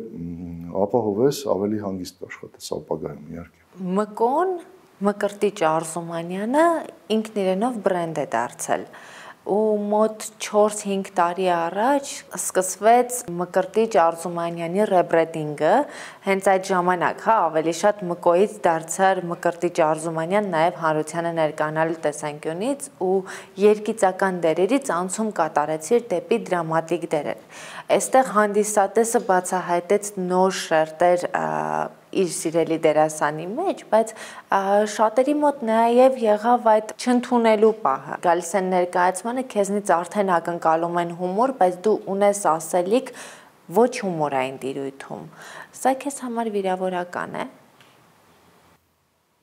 ապահովես, ավելի հանգիստ աշխատես ապագայում, իհարկե։
Մկոն Մկրտիչ Արզումանյանը ինքն իրենով բրենդ է դարձել ու մոտ չորս-հինգ տարի առաջ սկսվեց Մկրտիչ Արզումանյանի ռեբրենդինգը, հենց այդ ժամանակ, հա, ավելի շատ Մկոից դարձար Մկրտիչ Արզումանյան նաև հանրությանը ներկայանալու տեսանկյունից ու երգիծական դերերից անցում կատարեցիր դեպի դրամատիկ դերեր։ Այստեղ հանդիսատեսը բացահայտեց նոր շերտեր իր սիրելի դերասանի մեջ, բայց շատերի մոտ նաև եղավ այդ չընդունելու պահը։ Գալիս են ներկայացմանը, քեզնից արդեն ակնկալում են հումոր, բայց դու ունես ասելիք ոչ հումորային տիրույթում։ Սա քեզ համար վիրավորական է։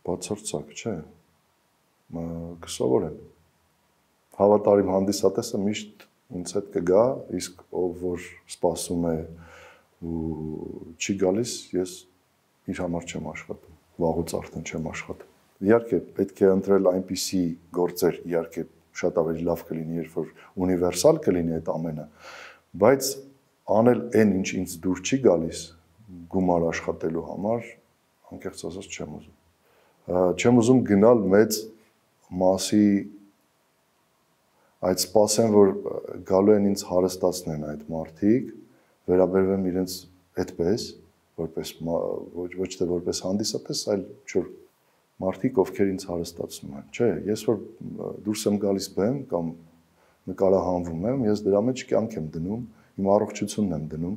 Բացարձակ, չէ։ Կսովորեմ։ Հավատարիմ հանդիսատեսը միշտ ինձ հետ կգա, իսկ ով որ սպասում է ու չի գալիս, ես իր համար չեմ աշխատում, վաղուց արդեն չեմ աշխատում։ Իհարկե, պետք է ընտրել այնպիսի գործեր, իհարկե, շատ ավելի լավ կլինի, երբ որ ունիվերսալ կլինի այդ ամենը, բայց անել այն, ինչ ինձ դուր չի գալիս գումար աշխատելու համար, անկեղծ ասած չեմ ուզում։ Չեմ ուզում գնալ մեծ մասի այդ սպասեմ, որ գալու են ինձ հարստացնեն այդ մարդիկ, վերաբերվեմ իրենց այդպես, որպես ոչ թե որպես հանդիսատես, այլ չոր մարդիկ, ովքեր ինձ հարստացնում են։ Չէ, ես որ դուրս եմ գալիս բեմ կամ նկարահանվում եմ, ես դրա մեջ կյանք եմ դնում, իմ առողջությունն եմ դնում։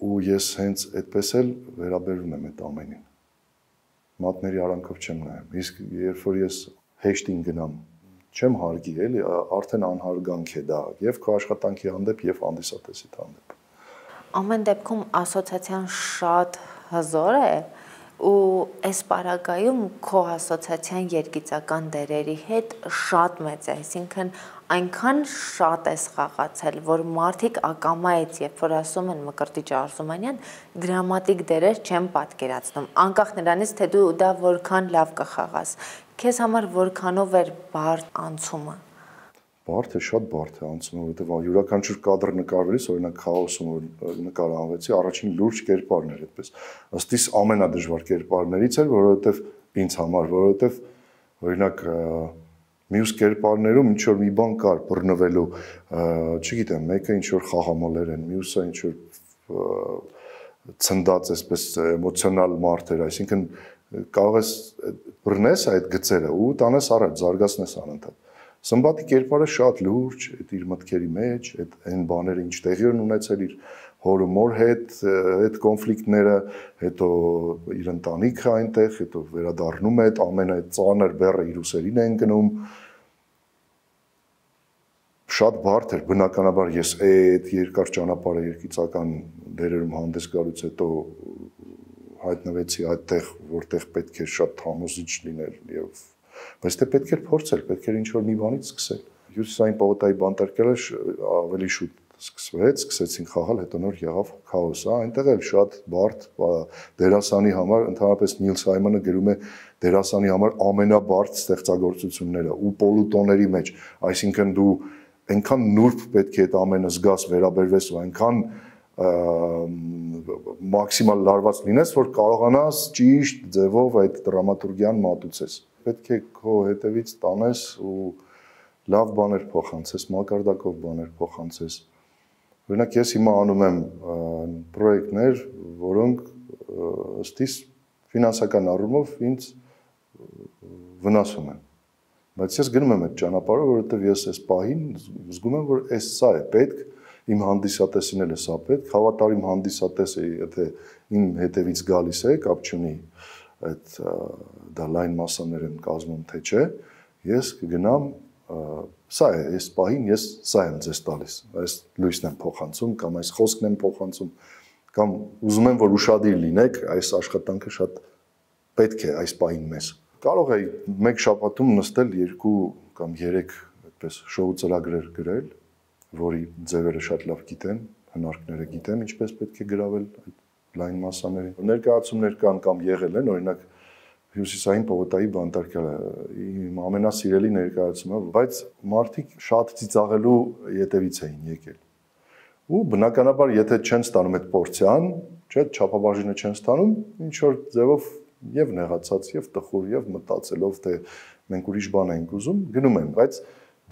Ու ես հենց այդպես էլ վերաբերվում եմ այդ ամենին։ Մատների արանքով չեմ նայում։ Իսկ երբ որ ես հեշտին գնամ, չեմ հարգի, էլի, արդեն անհարգանք է դա, եւ քո աշխատանքի հանդեպ, եւ հանդիսատեսի հանդեպ։
Ամեն դեպքում ասոցիացիան շատ հզոր է ու այս պարագայում քո ասոցիացիան երգիծական դերերի հետ շատ մեծ է, այսինքն այնքան շատ ես խաղացել, որ մարդիկ ակամայից, երբ որ ասում են Մկրտիչ Արզումանյան, դրամատիկ դերեր չեն պատկերացնում, անկախ նրանից, թե դու դա որքան լավ կխաղաս։ Քեզ համար որքանով էր բարդ անցումը։
Բարդ է, շատ բարդ է անցումը, որովհետև յուրաքանչյուր կադր նկարվելիս, օրինակ Քաոսում որ նկարահանվեցի, առաջին լուրջ կերպարն էր այդպես։ Ըստ իս ամենադժվար կերպարներից էր, որովհետև ինձ համար, որովհետև օրինակ մյուս կերպարներում ինչ որ մի բան կար բռնվելու, չգիտեմ, մեկը ինչ որ խաղամոլեր են, մյուսը ինչ որ ցնդած այսպես էմոցիոնալ մարդ էր, այսինքն կարող ես բռնես այդ գծերը ու տանես առաջ, զարգացնես անընդհատ։ Սմբատի կերպարը շատ լուրջ, այդ իր մտքերի մեջ, այդ այն բաները, ինչ տեղի են ունեցել իր հոր ու մոր հետ, այդ կոնֆլիկտները, հետո իր ընտանիքը այնտեղ, հետո վերադառնում է, այդ ամենը ծանր բեռը իր ուսերին է ընկնում։ Շատ բարդ էր, բնականաբար ես այդ երկար ճանապարհը երկիծական դերերում հանդես գալուց հետո հայտնվեցի այդտեղ, որտեղ պետք է շատ համոզիչ լինել եւ բայց դե պետք էր փորձել, պետք էր ինչ-որ մի բանից սկսել։ Հյուսիսային պողոտայի բանտարկելը ավելի շուտ սկսվեց, սկսեցին խաղալ, հետո նոր եղավ քաոս, հա, այնտեղ էլ շատ բարդ դերասանի համար, ընդհանրապես Նիլ Սայմոնը գրում է դերասանի համար ամենաբարդ ստեղծագործությունները ու պոլուտոների մեջ, այսինքն դու այնքան նուրբ պետք է այդ ամենը զգաս, վերաբերվես ու այնքան մաքսիմալ լարված լինես, որ կարողանաս ճիշտ ձևով այդ դրամատուրգիան մատուցես։ Պետք է քո հետևից տանես ու լավ բաներ փոխանցես, մակարդակով բաներ փոխանցես։ Օրինակ ես հիմա անում եմ պրոյեկտներ, որոնք ըստ իս ֆինանսական առումով ինձ վնասում են։ Բայց ես գնում եմ այդ ճանապարհը, որովհետև ես այս պահին զգում եմ, որ այս սա է պետք, իմ հանդիսատեսին էլ է սա պետք, հավատարիմ հանդիսատեսը, եթե իմ հետևից գալիս է, կապ չունի այդ դա լայն մասաներ են կազմում, թե չէ, ես կգնամ սա է, այս պահին ես սա եմ ձեզ տալիս, այս լույսն եմ փոխանցում կամ այս խոսքն եմ փոխանցում, կամ ուզում եմ, որ ուշադիր լինեք, այս աշխատանքը շատ պետք է այս պահին մեզ։ Կարող է մեկ շաբաթում նստել երկու կամ երեք այդպես շոու ծրագրեր գրել, որի ձևերը շատ լավ գիտեմ, հնարքները գիտեմ, ինչպես պետք է գրավել այդ լայն մասաներին։ Ներկայացումներ կան կամ եղել են, օրինակ Հյուսիսային պողոտայի բանտարկելը իմ ամենասիրելի ներկայացումը, բայց մարդիկ շատ ծիծաղելու ետևից էին եկել։ Ու բնականաբար, եթե չեն ստանում այդ պորցիան, չէ, չափաբաժինը չեն ստանում, ինչ որ ձևով եւ նեղացած, եւ տխուր, եւ մտածելով, թե մենք ուրիշ բան ենք ուզում, գնում են, բայց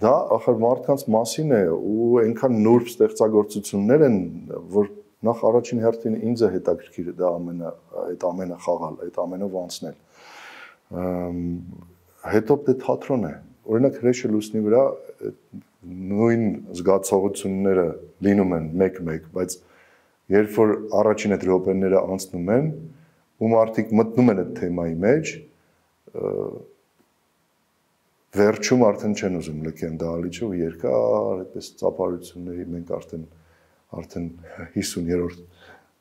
դա ախր մարդկանց մասին է ու այնքան նուրբ ստեղծագործություններ են, որ նախ առաջին հերթին ինձ է հետաքրքիր դա ամենը, այդ ամենը խաղալ, այդ ամենով անցնել։ Հետո դե թատրոն է, օրինակ հրեշը լուսնի վրա նույն զգացողությունները լինում են մեկ-մեկ, բայց երբ որ առաջին այդ րոպեները անցնում են, ու մարդիկ մտնում են այդ թեմայի մեջ, վերջում արդեն չեն ուզում լքեն դահլիճը ու երկար այդպես ծափարությունների մենք արդեն արդեն հիսուներորդ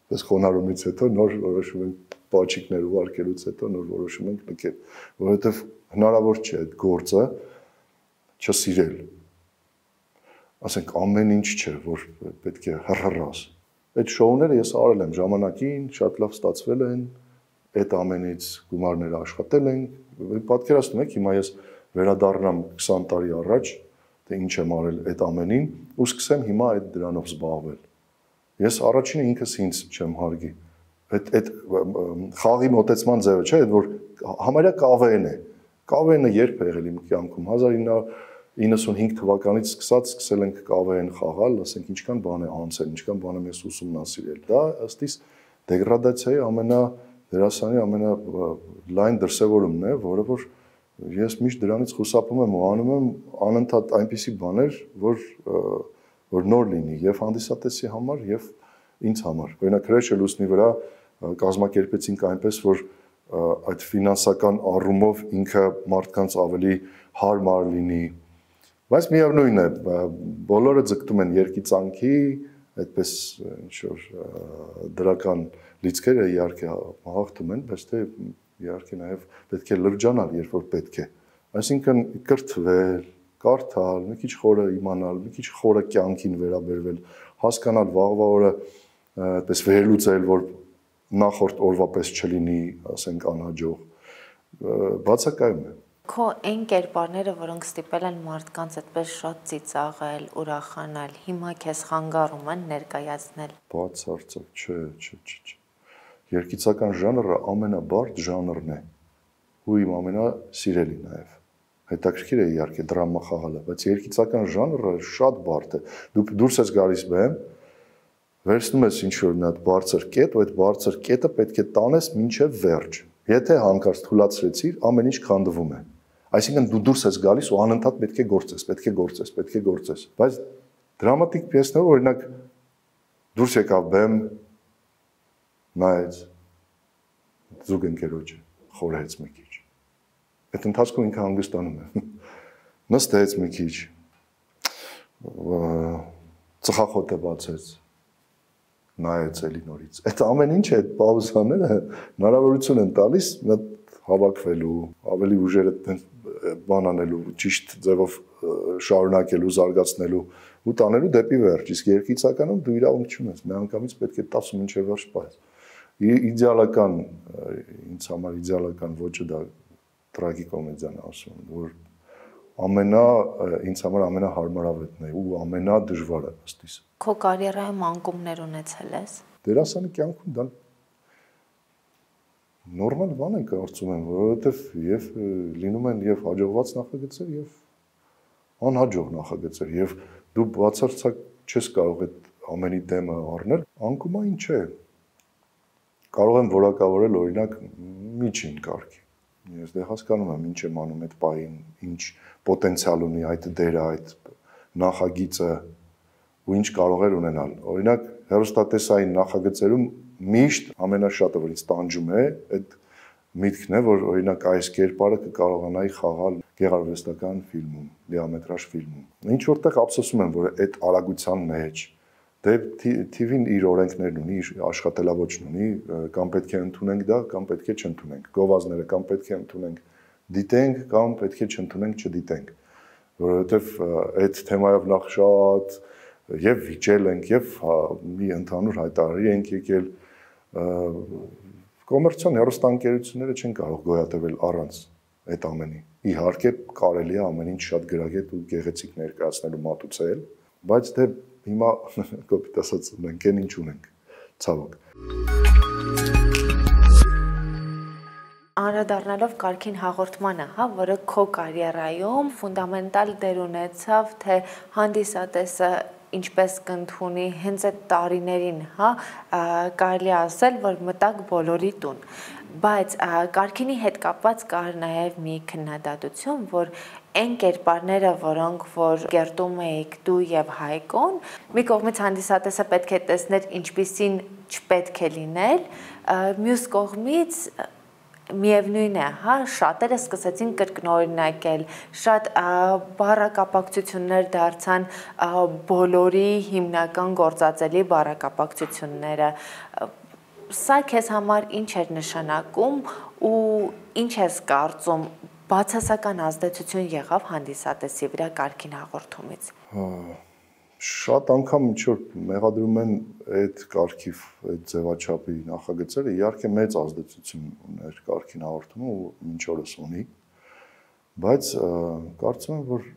պես խոնարհումից հետո նոր որոշում ենք պաչիկներ ուղարկելուց հետո նոր որոշում ենք լքել, որովհետև հնարավոր չէ այդ գործը չսիրել։ Ասենք ամեն ինչ չէ, որ պետք է հռհռաս։ Այդ շոուները ես արել եմ ժամանակին, շատ լավ ստացվել են, այդ ամենից գումարները աշխատել են, պատկերացնում եք, հիմա ես վերադառնամ քսան տարի առաջ, թե ինչ եմ արել այդ ամենին, ու սկսեմ հիմա այդ դրանով զբաղվել։ Ես առաջինը ինքս ինձ չեմ հարգի։ Այդ այդ խաղի մոտեցման ձևը չէ, որ համարյա կավեն է։ Կավենը երբ է եղել իմ կյանքում հազար ինը հարյուր իննսունհինգ թվականից սկսած սկսել ենք կավեն խաղալ, ասենք ինչքան բան է անցել, ինչքան բան եմ ես ուսումնասիրել։ Դա ըստ իս դեգրադացիայի ամենա դերասանի ամենա լայն դրսևորումն է, որը որ ես միշտ դրանից խուսափում եմ ու անում եմ անընդհատ այնպիսի բաներ, որ որ նոր լինի եւ հանդիսատեսի համար եւ ինձ համար։ Օրինակ հրեշը լուսնի վրա կազմակերպեցինք այնպես, որ այդ ֆինանսական առումով ինքը մարդկանց ավելի հարմար լինի։ Բայց միևնույն է, բոլորը ձգտում են երկիծանքի, այդպես ինչ որ դրական լիցքերը իհարկե հաղթում են, բայց թե իհարկե նաև պետք է լրջանալ, երբ որ պետք է։ Այսինքն կրթվել, կարդալ, մի քիչ խորը իմանալ, մի քիչ խորը կյանքին վերաբերվել, հասկանալ վաղվա օրը այդպես վերլուծել, որ նախորդ օրվա պես չլինի, ասենք անհաջող, բացակայում է։
Քո այն կերպարները, որոնք ստիպել են մարդկանց այդպես շատ ծիծաղել, ուրախանալ, հիմա քեզ խանգարում են ներկայացնել։
Բացարձակ, չէ, չէ, չէ։ Երգիծական ժանրը ամենաբարդ ժանրն է, ու իմ ամենասիրելի նաև։ Հետաքրքիր է իհարկե դրամա խաղալը, բայց երգիծական ժանրը շատ բարդ է։ Դու դուրս ես գալիս բեմ, վերցնում ես ինչ-որ մի հատ բարձր կետ, ու այդ բարձր կետը պետք է տանես մինչև վերջ։ Եթե հանկարծ թուլացրեցիր, ամեն ինչ քանդվում է։ Այսինքն դու դուրս ես գալիս ու անընդհատ պետք է գործես, պետք է գործես, պետք է գործես։ Բայց դրամատիկ պիեսներով օրինակ դուրս եկավ բեմ, նայեց, զուգ ընկերոջը, խորհեց մի քիչ։ Այդ ընթացքում ինքը հանգստանում է։ Նստեց մի քիչ, ծխախոտը բացեց, նայեց էլի նորից։ Այդ ամեն ինչը, այդ պաուզաները հնարավորություն են տալիս հավաքվելու, ավելի ուժերը բան անելու, ճիշտ ձևով շարունակելու, զարգացնելու ու տանելու դեպի վերջ։ Իսկ երկիցականում դու իրավունք չունես, միանգամից պետք է տասը մինչև վերջ պահես։ Իդեալական, ինձ համար իդեալական ոճը դա տրագիկոմեդիան է ասում, որ ամենա ինձ համար ամենահարմարավետն է ու ամենադժվարը ըստիս։
Քո կարիերայում անկումներ ունեցել ես։
Դերասանի կյանքում դա նորմալ բան է կարծում եմ, որովհետև եւ լինում են եւ հաջողված նախագծեր եւ անհաջող նախագծեր եւ դու բացարձակ չես կարող այդ ամենի դեմը առնել, անկումա ինչ է։ Կարող եմ որակավորել օրինակ միջին կարգի։ Ես դե հասկանում եմ ինչ եմ անում այդ պահին, ինչ պոտենցիալ ունի այդ դերը, այդ նախագիծը ու ինչ կարող էր ունենալ։ Օրինակ հեռուստատեսային նախագծերում միշտ ամենաշատը որ ինձ տանջում է, այդ միտքն է, որ օրինակ այս կերպարը կկարողանայի խաղալ գեղարվեստական ֆիլմում, դիամետրաժ ֆիլմում։ Ինչ որտեղ ափսոսում եմ, որ այդ արագության մեջ դե Թի վին իր օրենքներն ունի, իր աշխատելավոճն ունի, կամ պետք է ընդունենք դա, կամ պետք է չընդունենք։ Գովազները կամ պետք է ընդունենք, դիտենք, կամ պետք է չընդունենք, չդիտենք։ Որովհետև այդ թեմայով նախ շատ եւ վիճել ենք, եւ մի ընդհանուր հայտարարի ենք եկել, կոմերցիոն հեռուստաընկերությունները չեն կարող գոյատևել առանց այդ ամենի։ Իհարկե կարելի է ամեն ինչ շատ գրագետ ու գեղեցիկ ներկայացնելու մատուցել, բայց դե հիմա կոպիտ ասած ունենք, այն ինչ ունենք, ցավոք։
Անդրադառնալով կարգին հաղորդմանը, հա, որը քո կարիերայում ֆունդամենտալ դեր ունեցավ, թե հանդիսատեսը ինչպես կընդունի հենց այդ տարիներին, հա, կարելի ասել, որ մտակ բոլորի տուն։ Բայց կարգինի հետ կապված կար նաև մի քննադատություն, որ այն կերպարները, որոնք որ կերտում էիք դու եւ Հայկոն, մի կողմից հանդիսատեսը պետք է տեսներ ինչպիսին չպետք է լինել, մյուս կողմից միևնույն է, հա, շատերը սկսեցին կրկնօրինակել, շատ բառակապակցություններ դարձան բոլորի հիմնական գործածելի բառակապակցությունները։ Սա քեզ համար ինչ էր նշանակում ու ինչ ես կարծում բացասական ազդեցություն եղավ հանդիսատեսի վրա կարգին հաղորդումից։
Շատ անգամ ինչ որ մեղադրում են այդ կարգի, այդ ձևաչափի նախագծերը, իհարկե մեծ ազդեցություն ուներ կարգին հաղորդումը ու մինչ օրս ունի, բայց կարծում եմ, որ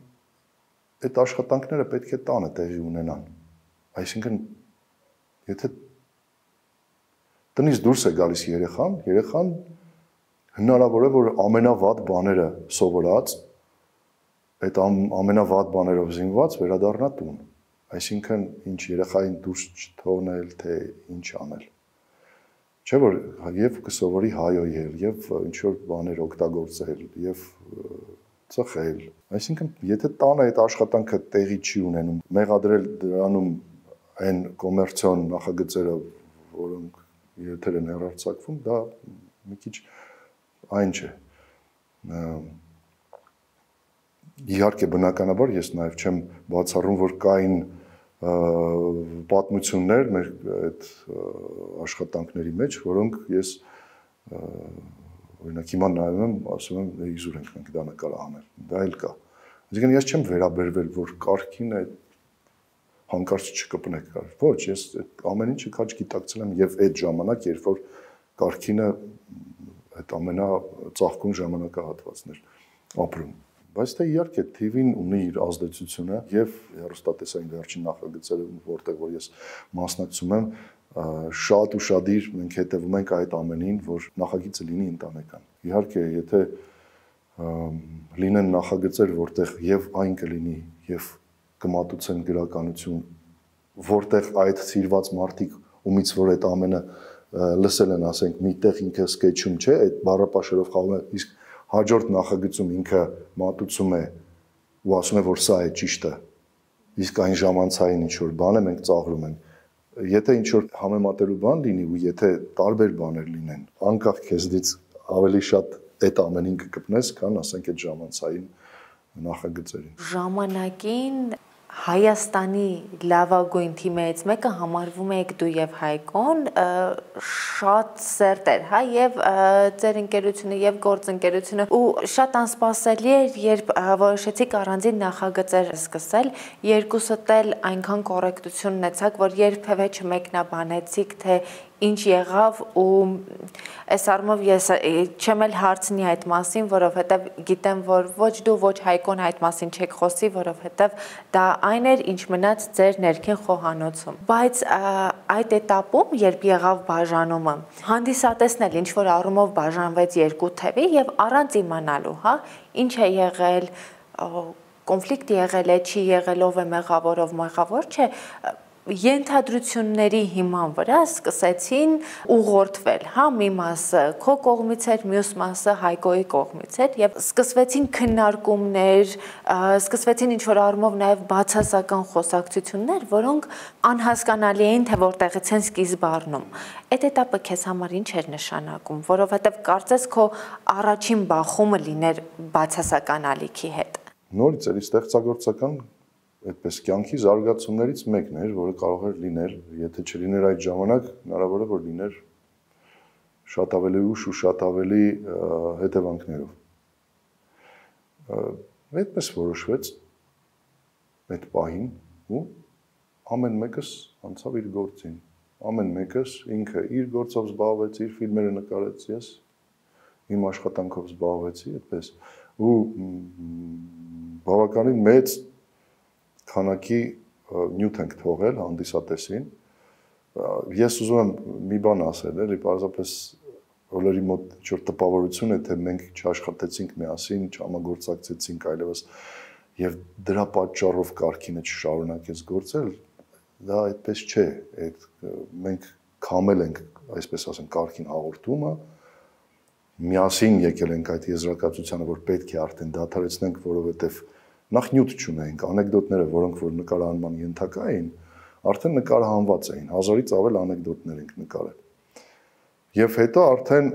այդ աշխատանքները պետք է տանը տեղի ունենան։ Այսինքն, եթե տնից դուրս է գալիս երեխան, երեխան հնարավոր է, որ ամենավատ բաները սովորած, այդ ամենավատ բաներով զինված վերադառնա տուն։ Այսինքն, ինչ երեխային դուրս չթողնել, թե ինչ անել։ Չէ՞ որ եւ կսովորի հայոյել, եւ ինչ որ բաներ օգտագործել, եւ ծխել։ Այսինքն, եթե տանը այդ աշխատանքը տեղի չի ունենում, մեղադրել դրանում այն կոմերցիոն նախագծերը, որոնք եթեր են հեռարձակվում, դա մի քիչ այն չէ։ Իհարկե բնականաբար ես նաև չեմ բացառում, որ կային պատմություններ մեր այդ աշխատանքների մեջ, որոնք ես օրինակ հիմա նայում եմ, ասում եմ, իզուր ենք մենք դա նկարահանել։ Դա էլ կա։ Այսինքն ես չեմ վերաբերվել, որ կարգին է հանկարծ չկպնեք կար։ Ոչ, ես այդ ամեն ինչը քաչ գիտակցել եմ եւ այդ ժամանակ, երբ որ կարգինը այդ ամենա ծաղկուն ժամանակահատվածներ ապրում։ Բայց թե իհարկե Թի վին ունի իր ազդեցությունը եւ հեռուստատեսային վերջին նախագծերը, որտեղ որ ես մասնակցում եմ, շատ ուշադիր մենք հետևում ենք այդ ամենին, որ նախագիծը լինի ընտանեկան։ Իհարկե, եթե լինեն նախագծեր, որտեղ եւ այն կլինի եւ կմատուցեն գրականություն, որտեղ այդ սիրված մարդիկ ումից որ այդ ամենը լսել են, ասենք, միտեղ ինքը սկեչում չէ, այդ բառապաշերով խաղում է, իսկ հաջորդ նախագծում ինքը մատուցում է ու ասում է, որ սա է ճիշտը, իսկ այն ժամանցային ինչ որ բան է մենք ծաղրում ենք, Եթե ինչ որ համեմատելու բան լինի ու եթե տարբեր բաներ լինեն, անկախ քեզնից ավելի շատ այդ ամենին կգտնես, քան ասենք այդ ժամանցային նախագծերին։
Ժամանակին Հայաստանի լավագույն թիմերից մեկը համարվում եք դու եւ Հայկոն, շատ սերտ էր, հա, եւ ձեր ընկերությունը եւ գործընկերությունը ու շատ անսպասելի էր, երբ որոշեցիք առանձին նախագծեր սկսել, երկուսդ էլ այնքան կոռեկտություն ունեցաք, որ երբևէ չմեկնաբանեցիք, թե ինչ եղավ ու այս առումով ես չեմ էլ հարցնի այդ մասին, որովհետև գիտեմ, որ ոչ դու, ոչ Հայկոն այդ մասին չեք խոսի, որովհետև դա այն էր, ինչ մնաց ձեր ներքին խոհանոցում։ Բայց այդ էտապում, երբ եղավ բաժանումը, հանդիսատեսն էլ ինչ-որ առումով բաժանվեց երկու թևի եւ առանց իմանալու, հա, ինչ է եղել, կոնֆլիկտ եղել է, չի եղել, ով է մեղավոր, ով մեղավոր չէ, ենթադրությունների հիման վրա սկսեցին ուղղորդվել, հա, մի մասը քո կողմից էր, մյուս մասը Հայկոյի կողմից էր եւ սկսվեցին քննարկումներ, սկսվեցին ինչ-որ առումով նաեւ բացասական խոսակցություններ, որոնք անհասկանալի էին, թե որտեղից են սկիզբ առնում։ Այդ էտապը քեզ համար ինչ էր նշանակում, որովհետեւ կարծես քո առաջին բախումը լիներ բացասական ալիքի հետ։
Նորից էլի ստեղծագործական այդպես կյանքի զարգացումներից մեկն էր, որը կարող էր լինել, եթե չլիներ այդ ժամանակ, հնարավոր է որ լիներ շատ ավելի ուշ ու շատ ավելի հետևանքներով։ Այդպես որոշվեց այդ պահին ու ամեն մեկս անցավ իր գործին։ Ամեն մեկս ինքը իր գործով զբաղվեց, իր ֆիլմերը նկարեց, ես իմ աշխատանքով զբաղվեցի, այդպես ու բավականին մեծ քանակի նյութ ենք թողել հանդիսատեսին։ Ես ուզում եմ մի բան ասել, էլի, պարզապես բոլորի մոտ ինչ-որ տպավորություն է, թե մենք չաշխատեցինք միասին, չհամագործակցեցինք այլևս եւ դրա պատճառով Կարքինը չշարունակեց գործել, դա այդպես չէ, այդ մենք քամել ենք, այսպես ասեմ, Կարքին հաղորդումը, միասին եկել ենք այդ եզրակացությանը, որ պետք է արդեն դադարեցնենք, որովհետեւ նախ նյութ չունեինք, անեկդոտները, որոնք որ նկարահանման ենթակա էին, արդեն նկարահանված էին, հազարից ավել անեկդոտներ ենք նկարել։ Եվ հետո արդեն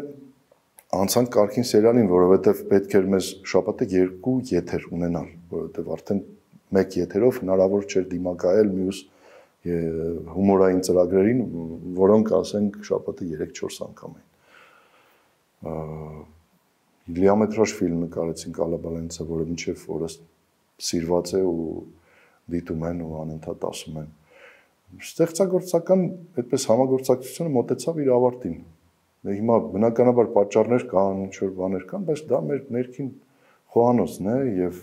անցանք Կարքին սերիալին, որովհետև պետք էր մեզ շաբաթը երկու եթեր ունենալ, որովհետև արդեն մեկ եթերով հնարավոր չէր դիմակայել մյուս հումորային ծրագրերին, որոնք ասենք շաբաթը երեք-չորս անգամ էին։ Լիամետրաժ ֆիլմ նկարեցինք Ալաբալենցը, որը մինչև օրս սիրված է ու դիտում են ու անընդհատ ասում են։ Ստեղծագործական այդպես համագործակցությունը մոտեցավ իր ավարտին։ Հիմա բնականաբար պատճառներ կան, ինչ-որ բաներ կան, բայց դա մեր ներքին խոհանոցն է եւ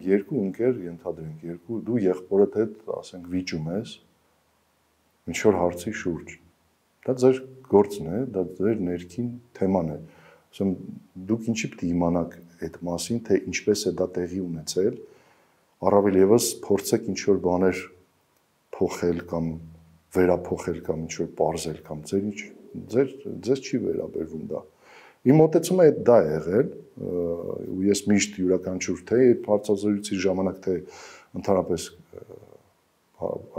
երկու ընկեր ենթադրենք, երկու դու եղբորդ հետ, ասենք, վիճում ես ինչ-որ հարցի շուրջ։ Դա ձեր գործն է, դա ձեր ներքին թեման է։ Ասում դուք ինչի պետք է իմանաք այդ մասին, թե ինչպես է դա տեղի ունեցել, առավել եւս փորձեք ինչ-որ բաներ փոխել կամ վերափոխել կամ ինչ-որ պարզել կամ ձեր ինչ ձեր ձեզ չի վերաբերվում դա։ Իմ մտածումը է դա է եղել, ու ես միշտ յուրաքանչյուր թե հարցազրույցի ժամանակ թե ընդհանրապես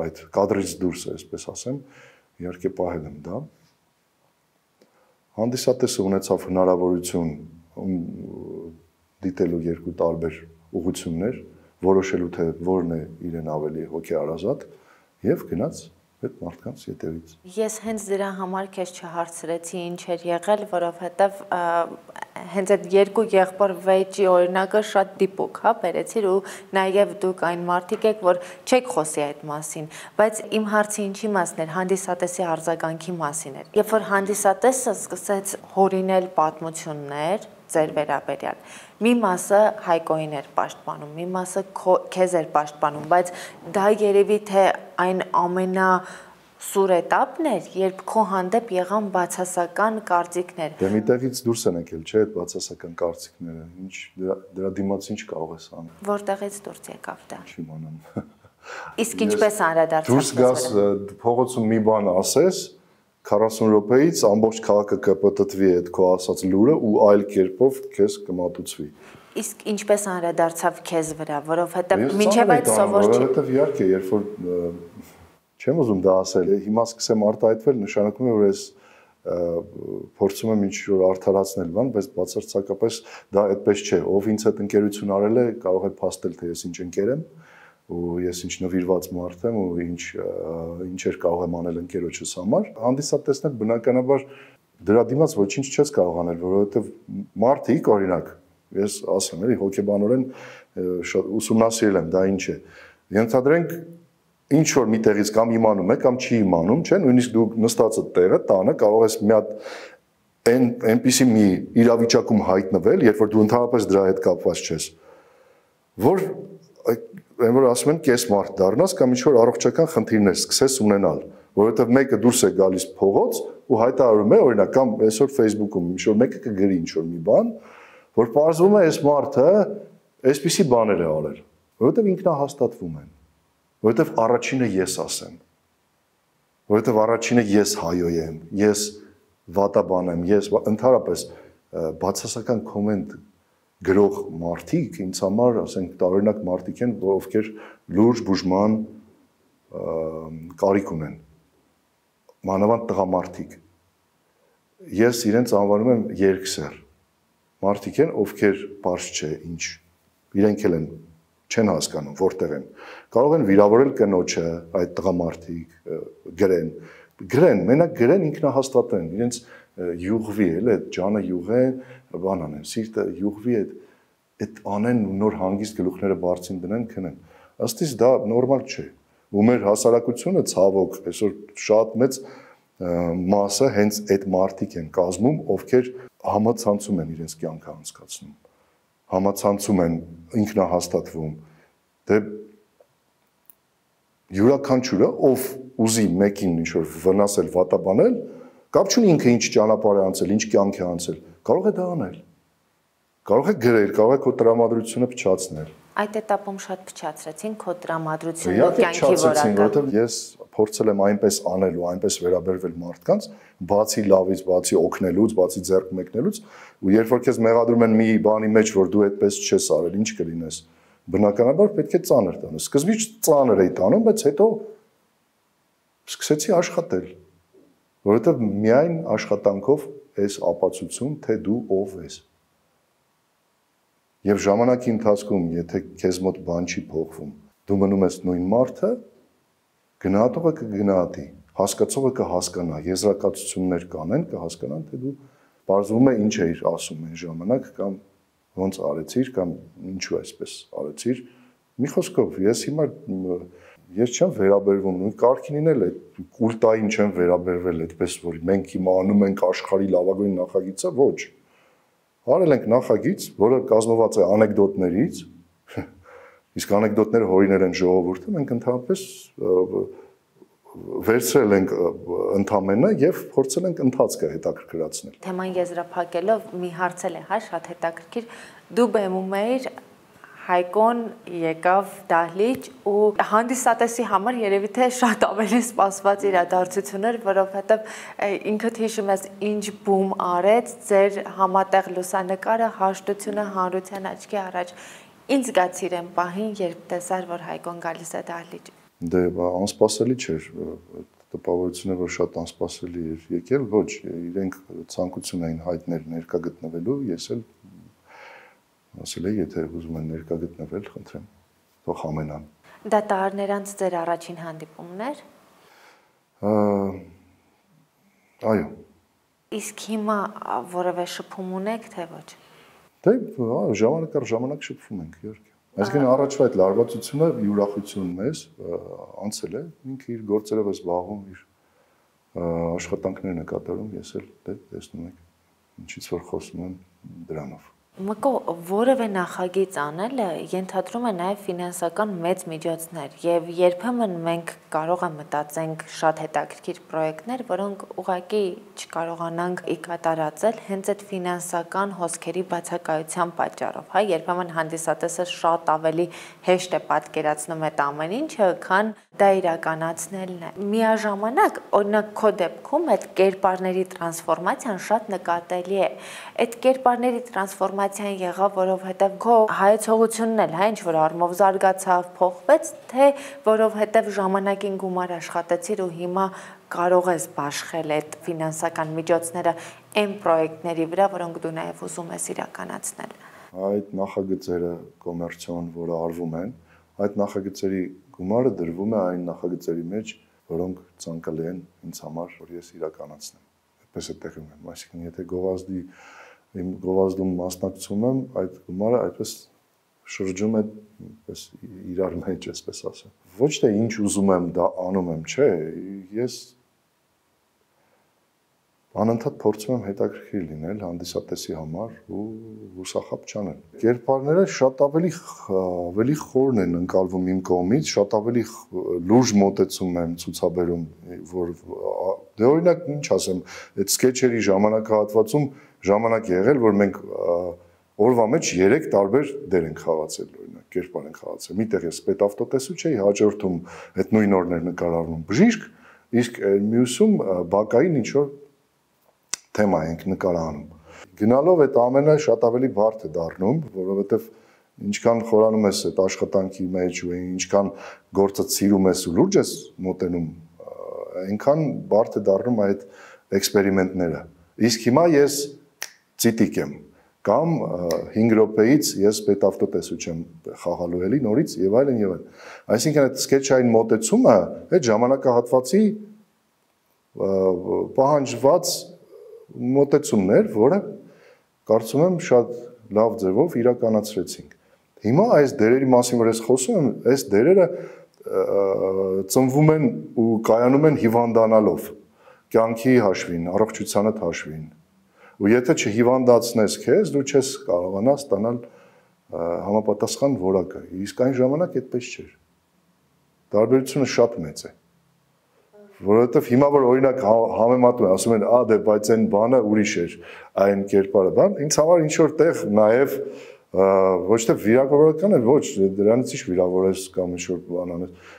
այդ կադրից դուրս է, այսպես ասեմ, իհարկե պահել եմ դա։ Հանդիսատեսը ունեցավ հնարավորություն դիտելու երկու տարբեր ուղղություններ, որոշելու թե որն է իրեն ավելի հոգեարազատ եւ գնաց այդ մարդկանց ետևից։
Ես հենց դրա համար քեզ չհարցրեցի ինչ էր եղել, որովհետեւ հենց այդ երկու եղբոր վեճի օրինակը շատ դիպուկ, հա, բերեցիր ու նաեւ դուք այն մարդիկ եք, որ չեք խոսի այդ մասին, բայց իմ հարցի ինչի մասն էր, հանդիսատեսի արձագանքի մասին էր։ Երբ որ հանդիսատեսը սկսեց հորինել պատմություններ ձեր վերաբերյալ, մի մասը Հայկոին էր պաշտպանում, մի մասը քեզ էր պաշտպանում, բայց դա երևի թե այն ամենա սուր էտապն էր, երբ քո հանդեպ եղան բացասական կարծիքներ։
Դե միտեղից դուրս են եկել, չէ՞, այդ բացասական կարծիքները։ Ինչ դրա դիմաց ինչ կարող ես անել։
Որտեղից դուրս եկավ դա։
Չիմանամ։
Իսկ ինչպես անդրադարձավ։
Դուրս գաս փողոցում մի բան ասես, քառասուն րոպեից ամբողջ քաղաքը կպտտվի այդ քո ասած լուրը ու այլ կերպով քեզ կմատուցվի։
Իսկ ինչպես անդրադարձավ քեզ վրա, որովհետև մինչև այդ սովոր չի։
Որովհետև իհարկե, երբ որ չեմ ուզում դա ասել, հիմա սկսեմ արտահայտվել, նշանակում է, որ ես փորձում եմ ինչ-որ արդարացնել բան, բայց բացարձակապես դա այդպես չէ, ով ինձ հետ ընկերություն արել է, կարող է փաստել, թե ես ինչ ընկեր եմ, ու ես ինչ նվիրված մարդ եմ, ու ինչ ինչեր կարող եմ անել ընկերոջս համար։ Հանդիսատեսներ բնականաբար դրա դիմաց ոչինչ չես կարող անել, որովհետև մարդիկ, օրինակ, ես ասեմ, էլի հոգեբանորեն շատ ուսումնասիրել եմ, դա ինչ է։ Ենթադրենք ինչ որ մի տեղից կամ իմանում է, կամ չի իմանում, չէ՞, նույնիսկ դու նստածդ տեղը, տանը կարող ես մի հատ այն այնպիսի մի իրավիճակում հայտնվել, երբ որ դու ընդհանրապես դրա հետ կապված չես, որ այն որ ասում են կես մարդ դառնաս կամ ինչ որ առողջական խնդիրներ սկսես ունենալ, որովհետև մեկը դուրս է գալիս փողոց ու հայտարարում է, օրինակ, կամ այսօր Facebook-ում ինչ որ մեկը կգրի ինչ որ մի բան, որ պարզվում է այս մարդը այսպիսի բաներ է արել, որովհետև ինքնահաստատվում են, որովհետև առաջինը ես ասեմ, որովհետև առաջինը ես հայոյ եմ, ես վատաբան եմ, ես ընդհանրապես բացասական կոմենտ գրող մարդիկ ինձ համար, ասենք, տարօրինակ մարդիկ են, ովքեր լուրջ բուժման կարիք ունեն, մանավանդ տղամարդիկ։ Ես իրենց անվանում եմ երկսեռ, մարդիկ են, ովքեր պարզ չէ ինչ, իրենք էլ են չեն հասկանում, որտեղ են։ Կարող են վիրավորել կնոջը, այդ տղամարդիկ, գրեն, գրեն, մենակ գրեն ինքնահաստատեն, իրենց յուղվի, էլ այդ ջանը յուղեն, բան անեն, սիրտը յուղվի, այդ անեն ու նոր հանգիստ գլուխները բարձին դնեն, քնեն։ Ըստ իս դա նորմալ չէ։ Ու մեր հասարակությունը ցավոք այսօր շատ մեծ մասը հենց այդ մարդիկ են կազմում, ովքեր համացանցում են իրենց կյանքը անցկացնում, համացանցում են, ինքնահաստատվում։ Դե յուրաքանչյուրը, ով ուզի մեկին ինչ-որ վնասել, վատաբանել, կապ չունի ինքը ինչ ճանապարհ է անցել, ինչ կյանք է անցել, կարող է դա անել։ Կարող է գրել, կարող է քո տրամադրությունը փչացնել։
Այդ этаպում շատ փչացրեցին քո տրամադրությունը կյանքի որակը։
Որովհետև ես փորձել եմ այնպես անել ու այնպես վերաբերվել մարդկանց, բացի լավից, բացի օգնելուց, բացի ձեռք մեկնելուց, ու երբ որ քեզ մեղադրում են մի բանի մեջ, որ դու այդպես չես արել, ինչ կլինես։ Բնականաբար պետք է ծանր տանես։ Սկզբից ծանր էի տանում, բայց հետո սկսեցի աշխատել, որովհետև միայն աշխատանքով ես ապացուցում, թե դու ով ես։ Եվ ժամանակի ընթացքում, եթե քեզ մոտ բան չի փոխվում, դու մնում ես նույն մարդը, գնահատողը կգնահատի, հասկացողը կհասկանա, եզրակացություններ կանեն, կհասկանան, թե դու բարձվում է ինչ էիր ասում այն ժամանակ կամ ոնց արեցիր կամ ինչու այսպես արեցիր։ Մի խոսքով, ես հիմա ես չեմ վերաբերվում, նույն Կարքինին էլ է կուլտային չեմ վերաբերվել, այդպես որ մենք հիմա անում ենք աշխարհի լավագույն նախագիծը, ոչ։ Արել ենք նախագիծ, որը կազմված է անեկդոտներից, իսկ անեկդոտները հորինել են ժողովուրդը, մենք ընդհանրապես վերցրել ենք ընդամենը եւ փորձել ենք ընթացքը հետաքրքրացնել։
Թեման եզրափակելով մի հարց էլ է, հա, շատ հետաքրքիր, դու բեմում էիր, Հայկոն եկավ դահլիճ ու հանդիսատեսի համար երևի թե շատ ավելի սպասված իրադարձություն էր, որովհետև ինքդ հիշում ես ինչ բում արեց ձեր համատեղ լուսանկարը, հաշտությունը հանրության աչքի առաջ։ Ինչ զգացիր են պահին, երբ տեսար, որ Հայկոն գալիս է դահլիճ։
Դե անսպասելի չէր, տպավորությունը որ շատ անսպասելի էր եկել, ոչ, իրենք ցանկություն էին հայտնել ներկա գտնվելու, ես էլ ասել եմ, եթե ուզում են ներկա գտնվել, խնդրեմ, թող ամենան։
Դա տարիներ անց ձեր առաջին հանդիպումն էր։
Այո։
Իսկ հիմա որևէ շփում ունեք, թե ոչ։
Դե ժամանակ առ ժամանակ շփվում ենք, իհարկե։ Այսինքն առաջվա այդ լարվածությունը յուրախությունն մեզ անցել է, ինքը իր գործերով է զբաղվում, իր աշխատանքներն է կատարում, ես էլ դե տեսնում եք, ինչից որ խոսում եմ դրանով։
Մկո որևէ նախագիծ անելը ենթադրում է նաև ֆինանսական մեծ միջոցներ եւ երբեմն մենք կարող ենք մտածենք շատ հետաքրքիր պրոյեկտներ, որոնք ուղղակի չկարողանանք ի կատարածել հենց այդ ֆինանսական հոսքերի բացակայության պատճառով, հա, երբեմն հանդիսատեսը շատ ավելի հեշտ է պատկերացնում այդ ամեն ինչը, քան դա իրականացնելն է։ Միաժամանակ, օրինակ քո դեպքում այդ կերպարների տրանսֆորմացիան շատ նկատելի է։ Այդ կերպարների տրանսֆորմացիան տրանսֆորմացիան եղավ, որովհետև քո հայեցողությունն էլ, հա, ինչ որ առումով զարգացավ, փոխվեց, թե որովհետև ժամանակին գումար աշխատեցիր ու հիմա կարող ես բաշխել այդ ֆինանսական միջոցները այն պրոյեկտների վրա, որոնք դու նաև ուզում ես իրականացնել։
Այդ նախագծերը կոմերցիոն, որը արվում են, այդ նախագծերի գումարը դրվում է այն նախագծերի մեջ, որոնք ցանկալի են ինձ համար, որ ես իրականացնեմ։ Այդպես է տեղում եմ, այսինքն եթե գովազդի իմ գովազդում մասնակցում եմ, այդ գումարը այդպես շրջում է այդպես իրար մեջ, այսպես ասեմ։ Ոչ թե ինչ ուզում եմ, դա անում եմ, չէ, ես անընդհատ փորձում եմ հետաքրքիր լինել հանդիսատեսի համար ու հուսախաբ չանել։ Կերպարները շատ ավելի ավելի խորն են ընկալվում իմ կողմից, շատ ավելի լուրջ մոտեցում եմ ցուցաբերում, որ դե օրինակ ինչ ասեմ, այդ սկեչերի ժամանակահատվածում ժամանակ եղել, որ մենք օրվա մեջ երեք տարբեր դեր ենք խաղացել, օրինակ կերպար ենք խաղացել։ Միտեղ ես պետավտոտեսու չէի, հաջորդում այդ նույն օրն էր նկարահանում բժիշկ, իսկ մյուսում բակային ինչ որ թեմա ենք նկարահանում։ Գնալով այդ ամենը շատ ավելի բարդ է դառնում, որովհետև ինչքան խորանում ես այդ աշխատանքի մեջ ու ինչքան գործը սիրում ես ու լուրջ ես մոտենում, այնքան բարդ է դառնում այդ էքսպերիմենտները։ Իսկ հիմա ես ցիտիկ եմ կամ հինգ րոպեից ես պետավտոտեսու չեմ խաղալու էլի նորից եւ այլն եւ այլն։ Այսինքն այդ սկեչային մոտեցումը այդ ժամանակահատվածի պահանջված մոտեցումներ, որը կարծում եմ շատ լավ ձևով իրականացրեցինք։ Հիմա այս դերերի մասին, որ ես խոսում եմ, այս դերերը ծնվում են ու կայանում են հիվանդանալով, կյանքի հաշվին, առողջությանդ հաշվին։ Ու եթե չհիվանդացնես քեզ, դու չես կարողանա ստանալ համապատասխան որակը։ Իսկ այն ժամանակ այդպես չէր։ Տարբերությունը շատ մեծ է։ Որովհետև հիմա որ օրինակ համեմատում են, ասում են, «Ա, դե բայց այն բանը ուրիշ էր, այն կերպարը», բան, ինձ համար ինչ որ տեղ նաև ոչ թե վիրավորական է, ոչ, դրանից ինչ վիրավորես կամ ինչ որ բան անես։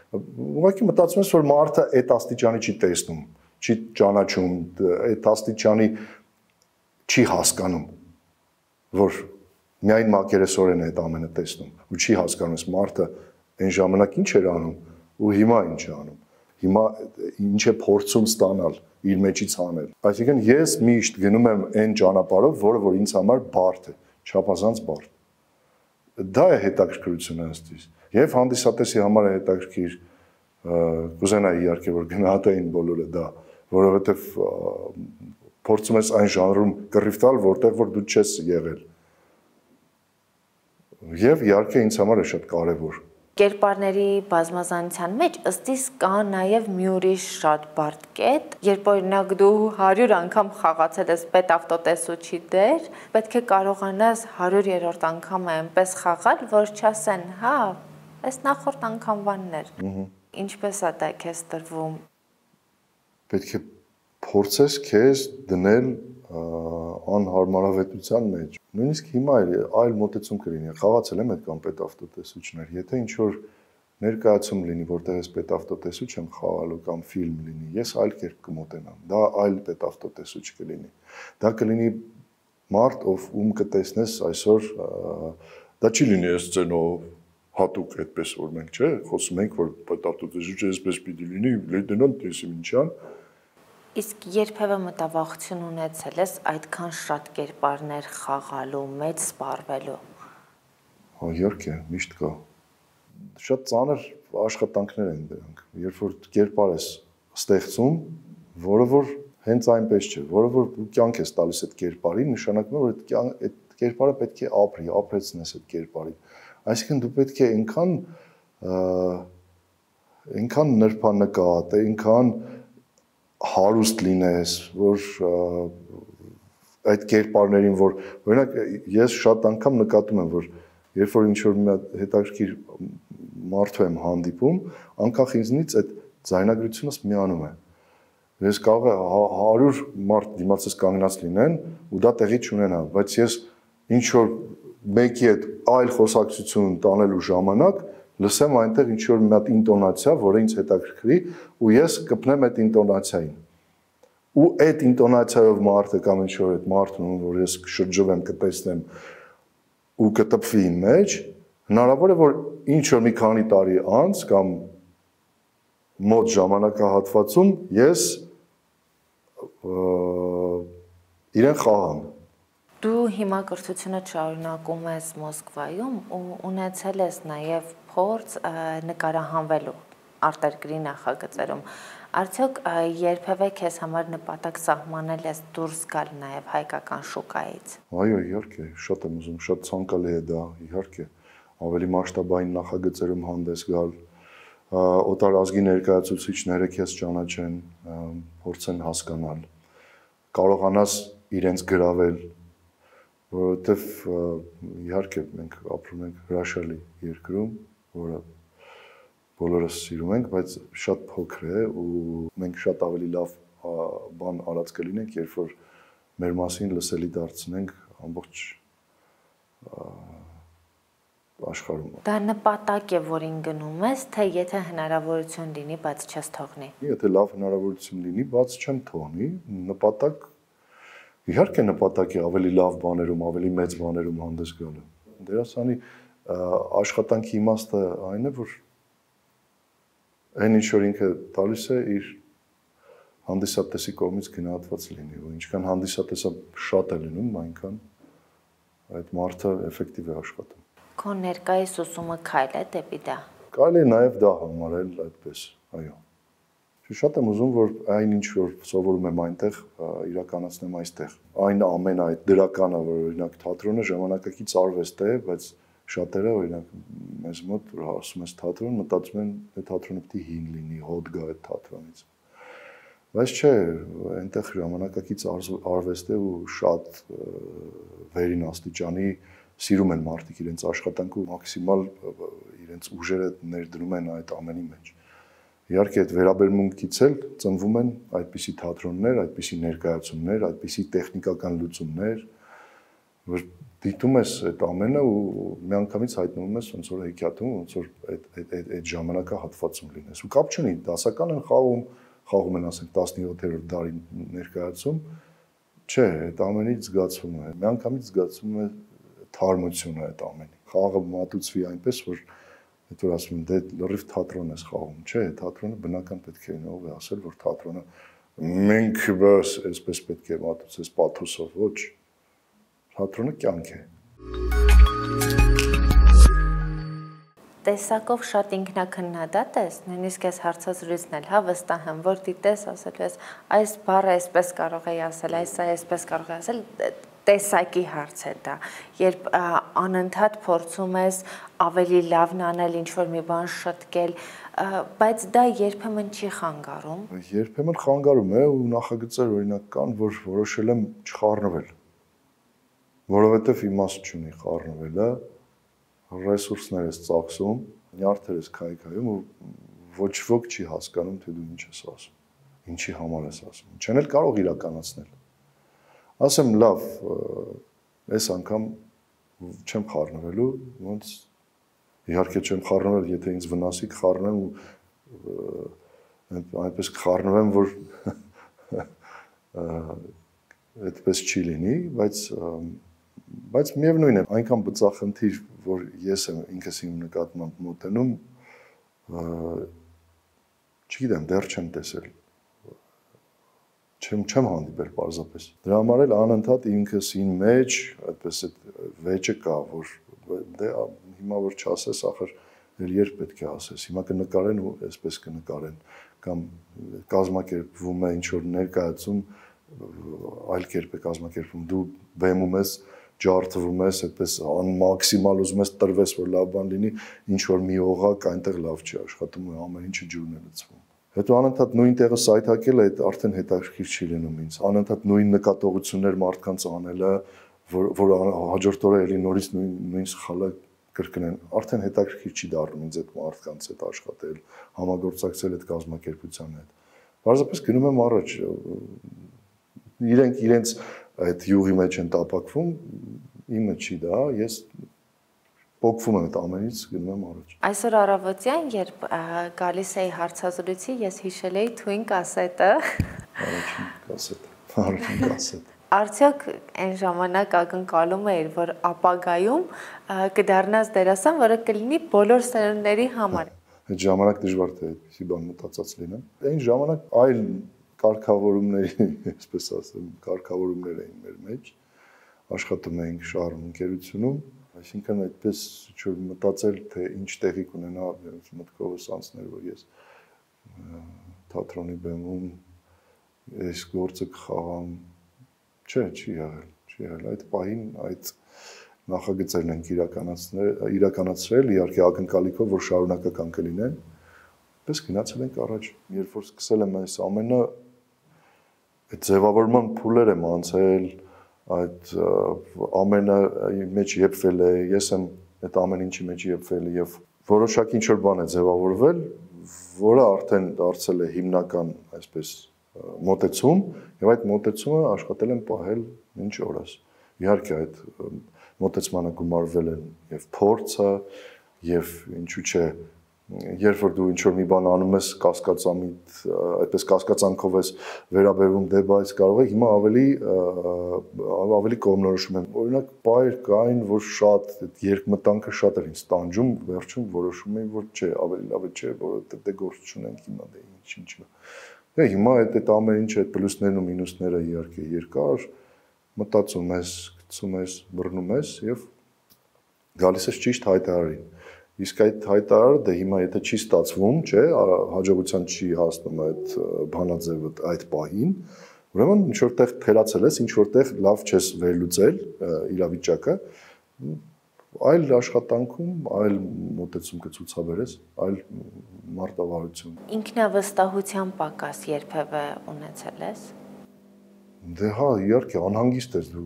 Ուղղակի մտածում ես, որ մարդը այդ աստիճանի չի տեսնում, չի ճանաչում, այդ աստիճանի չի հասկանում, որ միայն մակերեսորեն է այդ ամենը տեսնում ու չի հասկանում, ես մարդը այն ժամանակ ինչ էր անում ու հիմա ինչ է անում։ Հիմա ինչ է փորձում ստանալ, իր մեջից անել։ Այսինքն ես միշտ գնում եմ այն ճանապարհով, որը որ ինձ համար բարդ է, չափազանց բարդ։ Դա է հետաքրքրությունը ըստ իս։ Եվ հանդիսատեսի համար է հետաքրքիր, կուզենայի իհարկե որ գնահատեին բոլորը դա, որովհետև փորձում ես այն ժանրում կռիվ տալ, որտեղ որ դու չես եղել։ Եվ իհարկե ինձ համար է շատ կարևոր։
Կերպարների բազմազանության մեջ ըստ իս կա նաև մի ուրիշ շատ բարդ կետ, երբ օրինակ դու հարյուր անգամ խաղացել ես պետավտոտեսուչի դեր, պետք է կարողանաս հարյուրերորդ անգամը այնպես խաղալ, որ չասեն, հա, այս նախորդ անգամվանն էր։ Ինչպես է դա քեզ տրվում։
Պետք է փորձես քեզ դնել անհարմարավետության մեջ։ Նույնիսկ հիմա այլ մոտեցում կլինի։ Խաղացել եմ այդ կամ պետավտոտեսուչներ։ Եթե ինչ որ ներկայացում լինի, որտեղ ես պետավտոտեսուչ եմ խաղալու կամ ֆիլմ լինի, ես այլ կերպ կմոտենամ։ Դա այլ պետավտոտեսուչ կլինի։ Դա կլինի մարդ, ով ում կտեսնես այսօր, դա չի լինի այս սցենով հատուկ այդպես որ մենք, չէ, խոսում ենք, որ պետավտոտեսուչը այսպես պիտի լինի, լեյտենանտ տեսիմ ինչան։
Իսկ երբևէ մտավախություն ունեցել ես այդքան շատ կերպարներ խաղալու, մեծ սպառվելու։
Հա, իհարկե, միշտ կա։ Շատ ծանր աշխատանքներ են դրանք։ Երբ որ կերպար ես ստեղծում, որը որ հենց այնպես չէ, որը որ դու կյանք ես տալիս այդ կերպարին, նշանակում է, որ այդ այդ կերպարը պետք է ապրի, ապրեցնես այդ կերպարին։ Այսինքն դու պետք է այնքան այնքան նրբանկատ, այնքան հարուստ լինես, որ այդ կերպարներին, որ օրինակ ես շատ անգամ նկատում եմ, որ երբ որ ինչ-որ մի հետաքրքիր մարդու եմ հանդիպում, անկախ ինձնից այդ ձայնագրությունս միանում է։ Ես կարող է հարյուր մարդ դիմացս կանգնած լինեն ու դա տեղի չունենա, բայց ես ինչ-որ մեկի հետ այլ խոսակցություն տանելու ժամանակ լսեմ այնտեղ ինչ-որ մի հատ ինտոնացիա, որը ինձ հետաքրքրի ու ես կպնեմ այդ ինտոնացիային։ Ու այդ ինտոնացիայով մարդը կամ ինչ-որ այդ մարդուն, որ ես շրջվեմ, կտեսնեմ, ու կտպվի իմ մեջ, հնարավոր է որ ինչ որ մի քանի տարի անց կամ մոտ ժամանակահատվածում ես իրեն խաղամ։
Դու հիմա կրթությունը շարունակում ես Մոսկվայում ու ունեցել ես նաև փորձ նկարահանվելու արտերկրի նախագծերում։ Արդյոք երբևէ քեզ համար նպատակ սահմանել ես դուրս գալ նաև հայկական շուկայից։
Այո, իհարկե, շատ եմ ուզում, շատ ցանկալի է դա, իհարկե, ավելի մասշտաբային նախագծերում հանդես գալ, օտարազգի ներկայացուցիչները քեզ ճանաչեն, փորձեն հասկանալ, կարողանաս իրենց գրավել, որովհետև իհարկե մենք ապրում ենք հրաշալի երկրում, որը բոլորս սիրում ենք, բայց շատ փոքր է ու մենք շատ ավելի լավ բան արած կլինենք, երբ որ մեր մասին լսելի դարձնենք ամբողջ աշխարհում։
Դա նպատակ է, որին գնում ես, թե եթե հնարավորություն լինի, բաց չես թողնի։
Եթե լավ հնարավորություն լինի, բաց չեմ թողնի, նպատակ իհարկե նպատակ է ավելի լավ բաներում, ավելի մեծ բաներում հանդես գալը։ Դերասանի աշխատանքի իմաստը այն է, որ այն ինչ որ ինքը տալիս է իր հանդիսատեսի կողմից գնահատված լինի, ու ինչքան հանդիսատեսը շատ է լինում, այնքան այդ մարդը էֆեկտիվ է աշխատում։
Քո ներկայիս ուսումը քայլ է դեպի դա։
Կարելի է նաև դա համարել այդպես, այո։ Շատ եմ ուզում, որ այն ինչ որ սովորում եմ այնտեղ, իրականացնեմ այստեղ։ Այն ամենը այդ դրականը, որ օրինակ թատրոնը ժամանակակից արվեստ է, բայց շատերը օրինակ մեզ մոտ ասում ես թատրոն, մտածում են թե թատրոնը պետք է հին լինի, հոտ գա այդ թատրոնից։ Բայց չէ, այնտեղ ժամանակակից արվեստ է ու շատ վերին աստիճանի սիրում են մարդիկ իրենց աշխատանքը ու մաքսիմալ իրենց ուժերը ներդնում են այդ ամենի մեջ։ Իհարկե այդ վերաբերմունքից էլ ծնվում են այդպիսի թատրոններ, այդպիսի ներկայացումներ, այդպիսի տեխնիկական լուծումներ, որ դիտում ես այդ ամենը ու միանգամից հայտնվում ես ոնց որ հեքիաթում, ոնց որ այդ այդ այդ ժամանակահատվածում լինես։ Ու կապ չունի, դասական են խաղում, խաղում են ասենք տասնյոթերորդ դարի ներկայացում, չէ, այդ ամենից զգացվում է, միանգամից զգացվում է թարմությունը այդ ամենի։ Խաղը մատուցվի այնպես, որ այդ որ ասում են, դե լրիվ թատրոն ես խաղում, չէ, թատրոնը բնական պետք է ով է ասել, որ թատրոնը մենք բաս այսպես պետք է մատուցես պաթոսով, ոչ, թատրոնը կյանք է։
Տեսակով շատ ինքնակնդադատ ես, նույնիսկ ես հարցազրույցն էլ, հա, վստահ եմ, որ դիտես ասելու ես, այս բառը այսպես կարող է ասել, այս այսպես կարող է ասել, տեսակի հարց է դա, երբ անընդհատ փորձում ես ավելի լավն անել, ինչ-որ մի բան շտկել, բայց դա երբեմն չի խանգարում։
Երբեմն խանգարում է ու նախագծեր օրինակ կան, որ որոշել եմ չխառնվել, որովհետև իմաստ չունի խառնվելը, ռեսուրսներ ես ծախսում, նյարդեր ես քայքայում ու ոչ ոք չի հասկանում, թե դու ինչ ես ասում, ինչի համար ես ասում, չեն էլ կարող իրականացնել։ Ասեմ լավ, այս անգամ չեմ խառնվելու, ոնց իհարկե չեմ խառնվել, եթե ինձ վնասի կխառնեմ ու այնպես կխառնվեմ, որ այդպես չի լինի, բայց բայց միևնույն է, այնքան բծախնդիր, որ ես եմ ինքս իմ նկատմամբ մոտենում, չգիտեմ, դեռ չեմ տեսել։ Չեմ չեմ հանդիպել պարզապես։ Դրա համար էլ անընդհատ ինքս ին մեջ այդպես այդ վեճը կա, որ դե հիմա որ չասես, ախր էլ երբ պետք է ասես։ Հիմա կնկարեն ու այսպես կնկարեն կամ կազմակերպվում է ինչ որ ներկայացում, այլ կերպ է կազմակերպվում։ Դու բեմում ես, ջարդվում ես, այդպես մաքսիմալ ուզում ես տրվես, որ լավ բան լինի, ինչ որ մի օղակ այնտեղ լավ չի աշխատում ու ամեն ինչը ջուրն է լցվում։ Հետո անընդհատ նույն տեղը սայթակելը այդ արդեն հետաքրքիր չի լինում ինձ։ Անընդհատ նույն նկատողություններ մարդկանց անելը, որ որ հաջորդ օրը էլի նորից նույն նույն սխալը կրկնեն, արդեն հետաքրքիր չի դառնում ինձ այդ մարդկանց հետ աշխատել, համագործակցել այդ կազմակերպության հետ։ Պարզապես գնում եմ առաջ։ Իրենք իրենց այդ յուղի մեջ են տապակվում, իմը չի դա, ես փոքվում եմ այդ ամենից, գնում եմ առաջ։
Այսօր առավոտյան, երբ գալիս էի հարցազրույցի, ես հիշել էի թույն կասետը։
Առաջին կասետը, առաջին կասետը։
Արդյոք այն ժամանակ ակնկալում էիր, որ ապագայում կդառնաս դերասան, որը կլինի բոլոր սերունդների համար։
Այդ ժամանակ դժվար թե այդպիսի բան մտածած լինեմ։ Այն ժամանակ այլ կարգավորումների, այսպես ասեմ, կարգավորումներ էին մեր մեջ։ Աշխատում էինք շարում ընկերությունում, այսինքն այդպես ինչ-որ մտածել, թե ինչ տեղի կունենա մտքովս անցներ, որ ես թատրոնի բեմում այս գործը կխաղամ, չէ, չի եղել, չի եղել, այդ պահին այդ նախագծերն ենք իրականացրել, իհարկե ակնկալիքով, որ շարունակական կլինեն, պես գնացել ենք առաջ, երբ որ սկսել եմ այս ամենը, այդ ձևավորման փուլեր եմ անցել, այդ ամենը մեջ եփվել է, ես եմ այդ ամեն ինչի մեջ եփվել եւ որոշակի ինչ-որ բան է ձևավորվել, որը արդեն դարձել է հիմնական, այսպես, մոտեցում եւ այդ մոտեցումը աշխատել եմ պահել մինչ օրս։ Իհարկե այդ մոտեցմանը գումարվել են եւ փորձը եւ ինչու՞ չէ, երբ որ դու ինչ-որ մի բան անում ես կասկածամիտ, այդպես կասկածանքով ես վերաբերվում դե բայց կարող է հիմա ավելի ավելի կողմնորոշում եմ։ Օրինակ բայր կային, որ շատ այդ երկմտանքը շատ էր ինձ տանջում, վերջում որոշում էի, որ չէ, ավելի լավ է չէ, որովհետեւ դե գործ չունենք հիմա դե ինչ ինչ։ Դե հիմա այդ այդ ամեն ինչը այդ պլյուսներն ու մինուսները իհարկե երկար մտածում ես, գցում ես, բռնում ես եւ գալիս ես ճիշտ հայտարարին։ Իսկ այդ հայտարարը դե հիմա եթե չի ստացվում, չէ, հաջողության չի հասնում այդ բանաձևը այդ պահին, ուրեմն ինչ որտեղ թերացել ես, ինչ որտեղ լավ չես վերլուծել իրավիճակը, այլ աշխատանքում, այլ մոտեցում կցուցաբերես, այլ մարտավարություն։
Ինքնավստահության պակաս երբևէ ունեցել ես։
Դե հա, իհարկե անհանգիստ ես դու,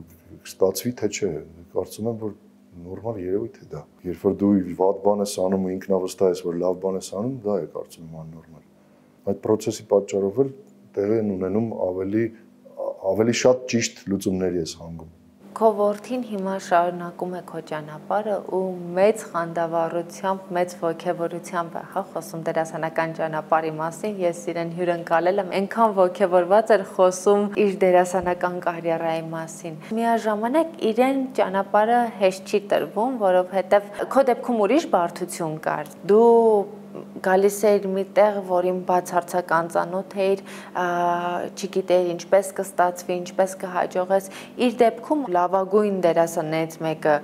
ստացվի թե չէ, կարծում եմ, որ նորմալ երևույթ է դա։ Երբ որ դու վատ բան ես անում ու ինքնավստահ ես, որ լավ բան ես անում, դա է կարծում եմ աննորմալ։ Այդ process-ի պատճառով էլ տեղի են ունենում ավելի ավելի շատ ճիշտ լուծումների ես հանգում։
Քո որդին հիմա շարունակում է քո ճանապարհը ու մեծ խանդավառությամբ, մեծ ոգևորությամբ է, հա, խոսում դերասանական ճանապարհի մասին, ես իրեն հյուրընկալել եմ, այնքան ոգևորված էր խոսում իր դերասանական կարիերայի մասին։ Միաժամանակ իրեն ճանապարհը հեշտ չի տրվում, որովհետև քո դեպքում ուրիշ բարդություն կար։ Դու գալիս էիր մի տեղ, որին բացարձակ անծանոթ էիր, չգիտեիր ինչպես կստացվի, ինչպես կհաջողես։ Իր դեպքում լավագույն դերասաններից մեկը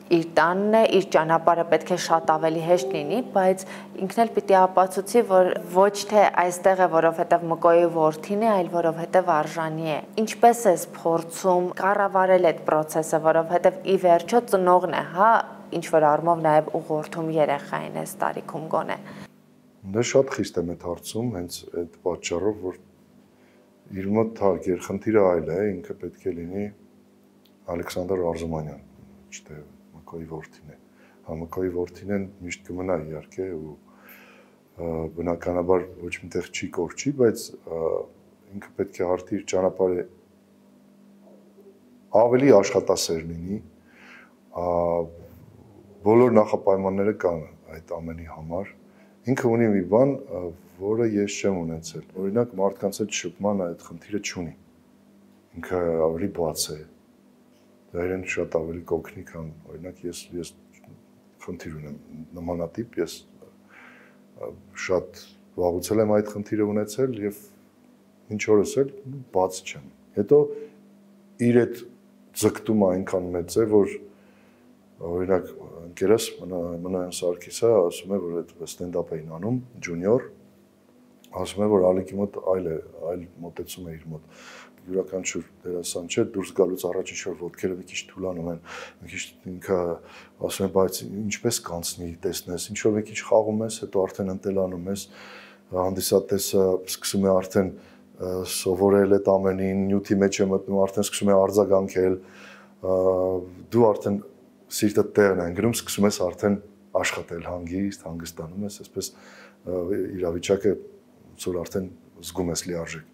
իր տանն է, իր ճանապարհը պետք է շատ ավելի հեշտ լինի, բայց ինքն էլ պիտի ապացուցի, որ ոչ թե այստեղ է, որովհետև Մկոյի որդին է, այլ որովհետև արժանի է։ Ինչպես ես փորձում կառավարել այդ process-ը, որովհետև ի վերջո ծնողն է, հա, ինչ որ առումով նաև ուղղորդում երեխային այս տարիքում գոնե։
Դա շատ խիստ եմ այդ հարցում, հենց այդ պատճառով, որ իր մոտ հա գերխնդիրը այլ է, ինքը պետք է լինի Ալեքսանդր Արզումանյան, չէ՞ Մկոյի որդին է։ Հա Մկոյի որդին են միշտ կմնա իհարկե ու բնականաբար ոչ միտեղ չի կորչի, բայց ինքը պետք է հարթի իր ճանապարհը ավելի աշխատասեր լինի, բոլոր նախապայմանները կան այդ ամենի համար։ Ինքը ունի մի բան, որը ես չեմ ունեցել։ Օրինակ մարդկանց հետ շփման այդ խնդիրը չունի։ Ինքը ավելի բաց է։ Դա իրեն շատ ավելի կօգնի, քան օրինակ ես ես խնդիր ունեմ նմանատիպ, ես շատ վաղուց եմ այդ խնդիրը ունեցել եւ ինչ օրս էլ բաց չեմ։ Հետո իր այդ ձգտումը այնքան մեծ է, որ օրինակ ընկերս Մնոյան Սարգիսը ասում է, որ այդ ստենդափ էին անում, ջունիոր, ասում է, որ Ալիկի մոտ այլ է, այլ մոտեցում է իր մոտ։ Յուրաքանչյուր դերասան չէ, դուրս գալուց առաջ ինչ-որ ոտքերը մի քիչ թուլանում են, մի քիչ ինքը ասում է, բայց ինչպես կանցնի, տեսնես, ինչ-որ մի քիչ խաղում ես, հետո արդեն ընտելանում ես, հանդիսատեսը սկսում է արդեն սովորել այդ ամենին, նյութի մեջ է մտնում, արդեն սկսում է արձագանքել, դու արդեն սիրտը տեղն է ընկնում, սկսում ես արդեն աշխատել հանգիստ, հանգստանում ես, այսպես իրավիճակը որ արդեն զգում ես լիարժեք։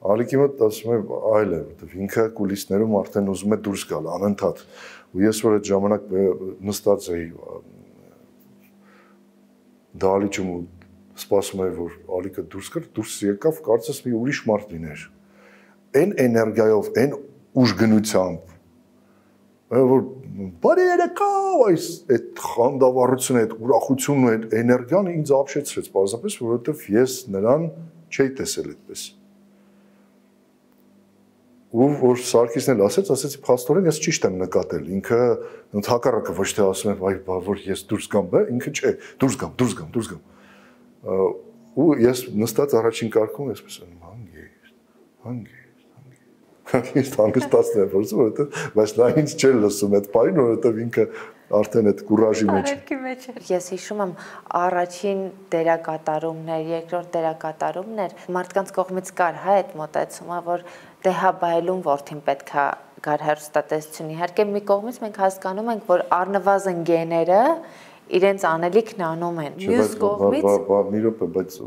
Ալիկի մոտ ասում եմ այլ է, որտեղ ինքը կուլիսներում արդեն ուզում է դուրս գալ անընդհատ։ Ու ես որ այդ ժամանակ նստած էի դահլիճում ու սպասում էի, որ Ալիկը դուրս գա, դուրս եկավ, կարծես մի ուրիշ մարդ լիներ։ Այն էներգիայով, այն ուժգնությամբ, որ բարի երեկո, այս այդ խանդավառությունը, այդ ուրախությունն ու այդ էներգիան ինձ ապշեցրեց, պարզապես, որովհետև ես նրան չէի տեսել այդպես։ Ու որ Սարգիսն էլ ասեց, ասեցի փաստորեն ես ճիշտ եմ նկատել, ինքը հակառակը ոչ թե ասում եմ, այ որ ես դուրս գամ, բա ինքը չէ, դուրս գամ, դուրս գամ, դուրս գամ։ Ու ես նստած առաջին կարգում էսպես եմ, հանգիստ, հանգիստ, հանգիստ, հանգստացնել եմ փորձում, որովհետև բայց նա ինձ չէր լսում այդ բանին, որովհետև ինքը արդեն այդ կուրաժի մեջ
էր։ Ես հիշում եմ առաջին դերակատարումներ, երկրորդ դերակատարումներ, մարդկանց կողմից կար հա այդ մոտեցումը, որ դե հա բայելուն որդին պետքա գար հեռուստատեսություն։ Իհարկե մի կողմից մենք հասկանում ենք, որ առնվազն գեները իրենց անելիքն անում են։ Մյուս կողմից
մի րոպե, բայց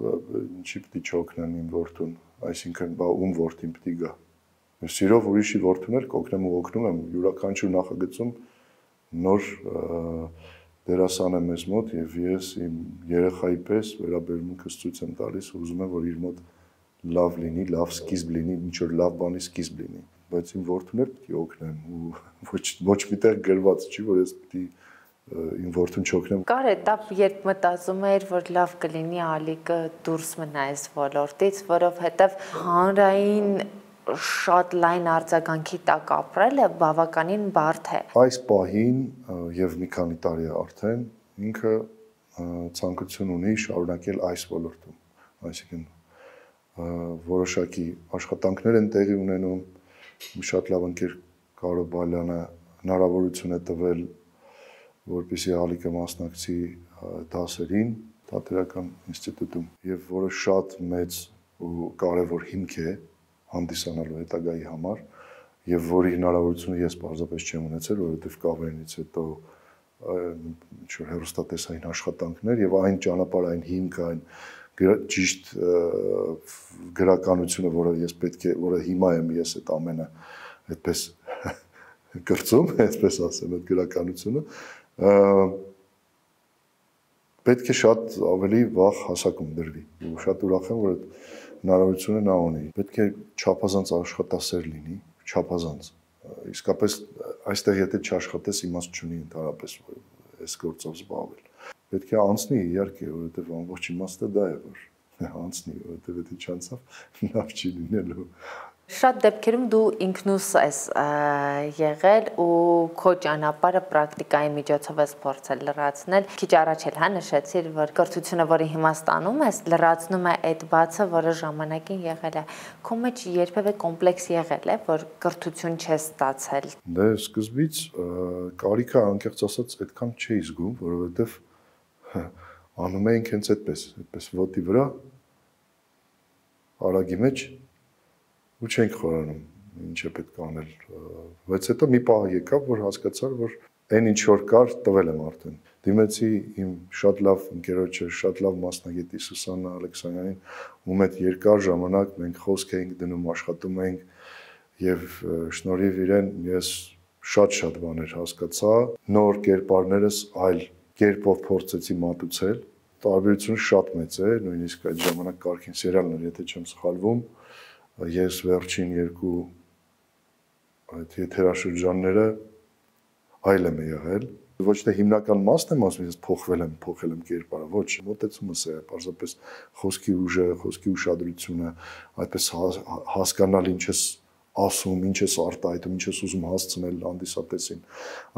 ինչի պիտի չօգնեն իմ որդուն, այսինքն բա ում որդին պիտի գա։ Ես սիրով ուրիշի որդուն էլ կօգնեմ ու օգնում եմ յուրաքանչյուր նախագծում նոր դերասան եմ ես մոտ եւ ես իմ երեխայի պես վերաբերմունքս ցույց եմ տալիս ու ուզում եմ որ իր մոտ լավ լինի, լավ սկիզբ լինի, ինչ որ լավ բանի սկիզբ լինի, բայց իմ որդուն էլ պիտի օգնեմ ու ոչ ոչ միտեղ գրված չի որ ես պիտի իմ որդուն չօգնեմ։
Կար էտապ, երբ մտածում էր, որ լավ կլինի Ալիկը դուրս մնա այս ոլորտից, որովհետեւ հանրային շատ լայն արձագանքի տակ ապրելը բավականին բարդ է։
Այս պահին եւ մի քանի տարի արդեն ինքը ցանկություն ունի շարունակել այս ոլորտում, այսինքն որոշակի աշխատանքներ են տեղի ունենում, շատ լավ ընկեր Կարո Բալյանը հնարավորություն է տվել, որպեսզի Ալիկը մասնակցի դասերին թատերական ինստիտուտում եւ որը շատ մեծ ու կարեւոր հիմք է հանդիսանալու հետագայի համար եւ որի հնարավորությունը ես պարզապես չեմ ունեցել, որովհետեւ կավերնից հետո ինչ որ հեռուստատեսային աշխատանքներ եւ այն ճանապարհային հիմքը, այն ճիշտ գրականությունը, որը ես պետք է, որը հիմա եմ ես այդ ամենը այդպես կրծում, այսպես ասեմ, այդ գրականությունը պետք է շատ ավելի վաղ հասակում դրվի։ Ու շատ ուրախ եմ, որ այդ հնարավորությունը նա ունի։ Պետք է չափազանց աշխատասեր լինի, չափազանց։ Իսկապես այստեղ եթե չաշխատես իմաստ չունի ընդհանրապես այս գործով զբաղվել։ Պետք է անցնի իհարկե, որովհետև ամբողջ իմաստը դա է, որ անցնի, որովհետև եթե չանցավ լավ չի լինելու։
Շատ դեպքերում դու ինքնուս ես եղել ու քո ճանապարհը պրակտիկայի միջոցով ես փորձել լրացնել։ Քիչ առաջ էլ հա նշեցիր, որ կրթությունը, որի հիմա ստանում ես, լրացնում է այդ բացը, որը ժամանակին եղել է։ Քո մեջ երբևէ կոմպլեքս եղել է, որ կրթություն չես ստացել։
Դե սկզբից կարիքը անկեղծ ասած այդքան չէի զգում, որովհետև անում էինք հենց այդպես, այդպես ոտի վրա արագի մեջ ու չենք խորանում ինչ է պետք անել, բայց հետո մի պահ եկավ, որ հասկացար, որ այն ինչ որ կար, տվել եմ արդեն։ Դիմեցի իմ շատ լավ ընկերոջը, շատ լավ մասնագետի Սուսաննա Ալեքսանյանին, ում հետ երկար ժամանակ մենք խոսք էինք դնում, աշխատում էինք եւ շնորհիվ իրեն ես շատ-շատ բաներ հասկացա, նոր կերպարներս այլ կերպով փորձեցի մատուցել, տարբերությունը շատ մեծ է, նույնիսկ այդ ժամանակ Կարքին սերիալն էր, եթե չեմ սխալվում, ես վերջին երկու այդ եթերաշրջանները այլ եմ եղել, ոչ թե հիմնական մասն եմ ասում, ես փոխվել եմ, փոխել եմ կերպարը, ոչ, մոտեցումս է, պարզապես խոսքի ուժը, խոսքի ուշադրությունը, այդպես հասկանալ ինչ ես ասում, ինչ ես արտահայտում, ինչ ես ուզում հասցնել հանդիսատեսին։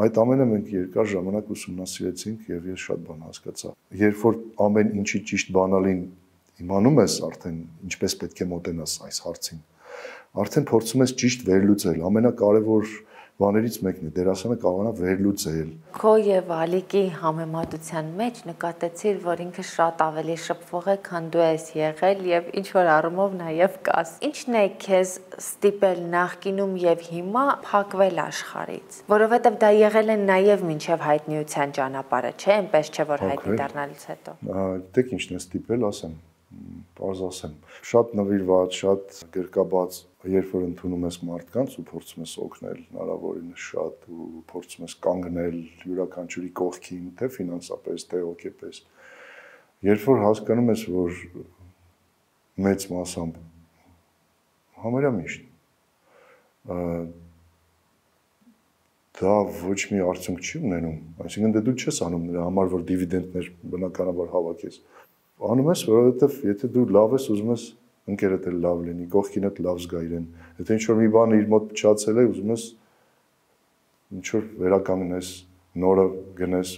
Այդ ամենը մենք երկար ժամանակ ուսումնասիրեցինք եւ ես շատ բան հասկացա։ Երբ որ ամեն ինչի ճիշտ բանալին իմանում ես արդեն ինչպես պետք է մոտենաս այս հարցին, արդեն փորձում ես ճիշտ վերլուծել, ամենակարևոր բաներից մեկն է, դերասանը կարողանա վերլուծել։
Քո եւ Ալիկի համեմատության մեջ նկատեցիր, որ ինքը շատ ավելի շփվող է, քան դու ես եղել եւ ինչ որ առումով նաեւ կաս։ Ինչն է քեզ ստիպել նախկինում եւ հիմա փակվել աշխարհից, որովհետեւ դա եղել է նաեւ մինչեւ հայտնիության ճանապարհը, չէ՞, այնպես չէ, որ հայտնի դառնալուց հետո։
Դեք ինչն է ստիպել, ասեմ, պարզ ասեմ, շատ նվիրված, շատ գրկաբաց, երբ որ ընդունում ես մարդկանց ու փորձում ես օգնել հնարավորինս շատ ու փորձում ես կանգնել յուրաքանչյուրի կողքին, թե ֆինանսապես, թե հոգեպես, երբ որ հասկանում ես, որ մեծ մասամբ համարյա միշտ դա ոչ մի արդյունք չի ունենում, այսինքն դե դու չես անում նրա համար, որ դիվիդենդներ բնականաբար հավաքես։ Անում ես, որովհետև եթե դու լավ ես, ուզում ես ընկերդ էլ լավ լինի, կողքինդ լավ զգա իրեն։ Եթե ինչ-որ մի բան իր մոտ փչացել է, ուզում ես ինչ-որ վերականգնես, նորը գնես։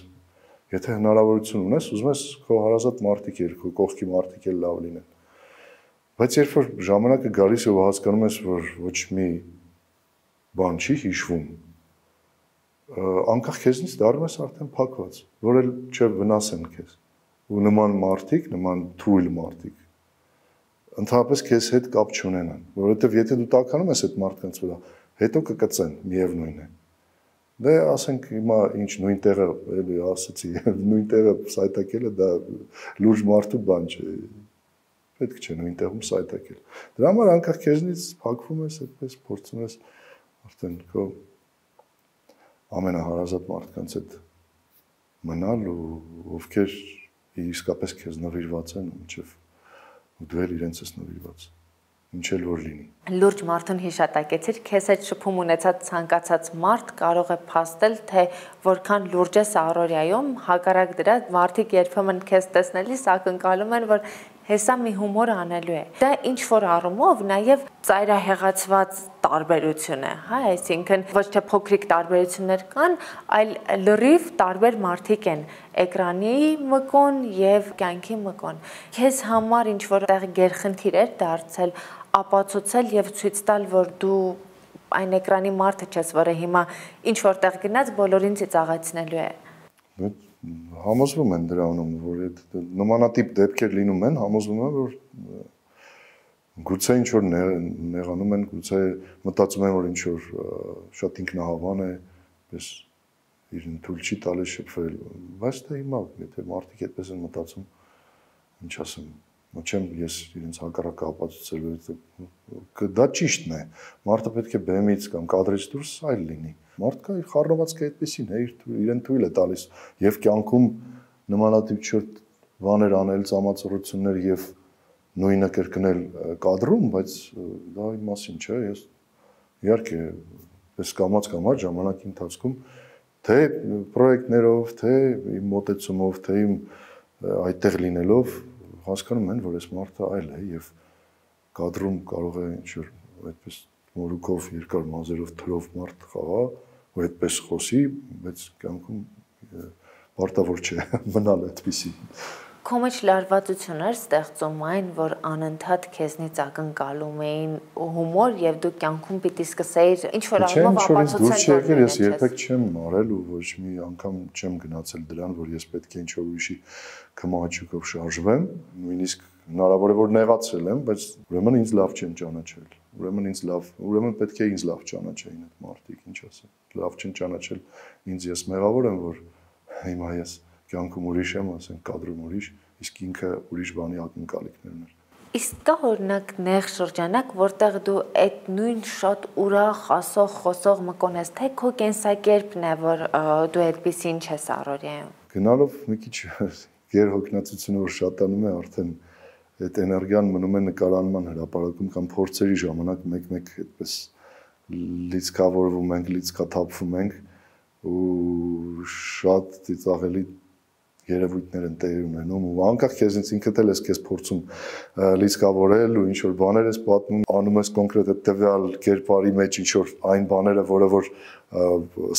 Եթե հնարավորություն ունես, ուզում ես քո հարազատ մարդիկ երկու, կողքի մարդիկ էլ լավ լինեն։ Բայց երբ որ ժամանակը գալիս է ու հասկանում ես, որ ոչ մի բան չի հիշվում, անկախ քեզնից դառնում ես արդեն փակված, որ էլ չէ վնասեն քեզ։ Ու նման մարդիկ, նման թույլ մարդիկ ընդհանրապես քեզ հետ կապ չունենան, որովհետև եթե դու տականում ես այդ մարդկանց վրա, հետո կկծեն, միևնույն է։ Դե ասենք հիմա ինչ նույն տեղը, էլի ասացի, նույն տեղը սայթակելը դա լուրջ մարդու բան չէ։ Պետք չէ նույն տեղում սայթակել։ Դրա համար անկախ քեզնից փակվում ես, այդպես փորձում ես արդեն քո ամենահարազատ մարդկանց հետ մնալ ու ովքեր իսկապես քեզ նվիրված են, մինչև ու դու էլ իրենց ես նվիրված, ինչ էլ որ լինի։
Լուրջ մարդուն հիշատակեցիր, քեզ հետ շփում ունեցած ցանկացած մարդ կարող է փաստել, թե որքան լուրջ ես առօրյայում, հակառակ դրա մարդիկ երբեմն քեզ տեսնելիս ակնկալում են, որ հեսա մի հումոր անելու է։ Դա ինչ որ առումով նաև ծայրահեղացված տարբերություն է, հա, այսինքն ոչ թե փոքրիկ տարբերություններ կան, այլ լրիվ տարբեր մարդիկ են էկրանի մկոն եւ կյանքի մկոն։ Քեզ համար ինչ որ տեղ գերխնդիր էր դարձել ապացուցել եւ ցույց տալ, որ դու այն էկրանի մարդը չես, որը հիմա ինչ որտեղ գնաց բոլորին ծիծաղացնելու է։
Համոզվում են դրանում, որ այդ նմանատիպ դեպքեր լինում են, համոզվում են, որ գուցե ինչ որ նեղանում են, գուցե մտածում են, որ ինչ որ շատ ինքնահավան է, պես իրեն թույլ չի տալիս շփվել, բայց դա հիմա եթե մարդիկ այդպես են մտածում, ինչ ասեմ, չեմ ես իրենց հակառակը ապացուցել, դա ճիշտն է, մարդը պետք է բեմից կամ կադրից դուրս այլ լինի։ Մարդկա իր խառնվածքը այդպեսին է, իրեն թույլ է տալիս եւ կյանքում նմանատիպ չորտ բաներ անել, ծամացորություններ եւ նույնը կրկնել կադրում, բայց դա իմ մասին չէ, ես իհարկե ես կամաց կամաց ժամանակի ընթացքում թե պրոյեկտներով, թե իմ մոտեցումով, թե իմ այդտեղ լինելով հասկանում են, որ այս մարդը այլ է եւ կադրում կարող է ինչ-որ այդպես մորուքով երկար մազերով թրով մարդ խաղա, ու այդպես խոսի, բայց կյանքում պարտավոր չէ մնալ այդպիսի։
Քո մեջ լարվածություն էր ստեղծում այն, որ անընդհատ քեզնից ակնկալում էին հումոր եւ դու կյանքում պիտի սկսեիր ինչ որ առումով ապացուցել,
որ ես երբեք չեմ արել ու ոչ մի անգամ չեմ գնացել դրան, որ ես պետք է ինչ որ ուրիշի կմահաճուկով շարժվեմ, նույնիսկ հնարավոր է որ նեղացել եմ, բայց ուրեմն ինձ լավ չեն ճանաչել։ Ուրեմն ինձ լավ, ուրեմն պետք է ինձ լավ ճանաչեին այդ մարդիկ, ինչ ասեմ։ Լավ չեն ճանաչել ինձ, ես մեղավոր եմ, որ հիմա ես կյանքում ուրիշ եմ, ասենք կադրում ուրիշ, իսկ ինքը ուրիշ բանի ակնկալիքներ ուներ։
Իսկ կա օրինակ նեղ շրջանակ, որտեղ դու այդ նույն շատ ուրախ, ասող, խոսող մկոն ես, թե քո կենսակերպն է, որ դու այդպեսին չես առօրյայում։
Գնալով մի քիչ գերհոգնածությունը որ շատանում է, արդեն այդ էներգիան մնում է նկարանման հրապարակում կամ փորձերի ժամանակ մեկ-մեկ այդպես լիցքավորվում ենք, լիցքաթափվում ենք ու շատ ծիծաղելի երևույթներ են տեղի ունենում ու անկախ քեզնից ինքդ էլ ես քեզ փորձում լիցքավորել ու ինչ որ բաներ ես պատմում, անում ես կոնկրետ այդ տվյալ կերպարի մեջ ինչ որ այն բաները, որը որ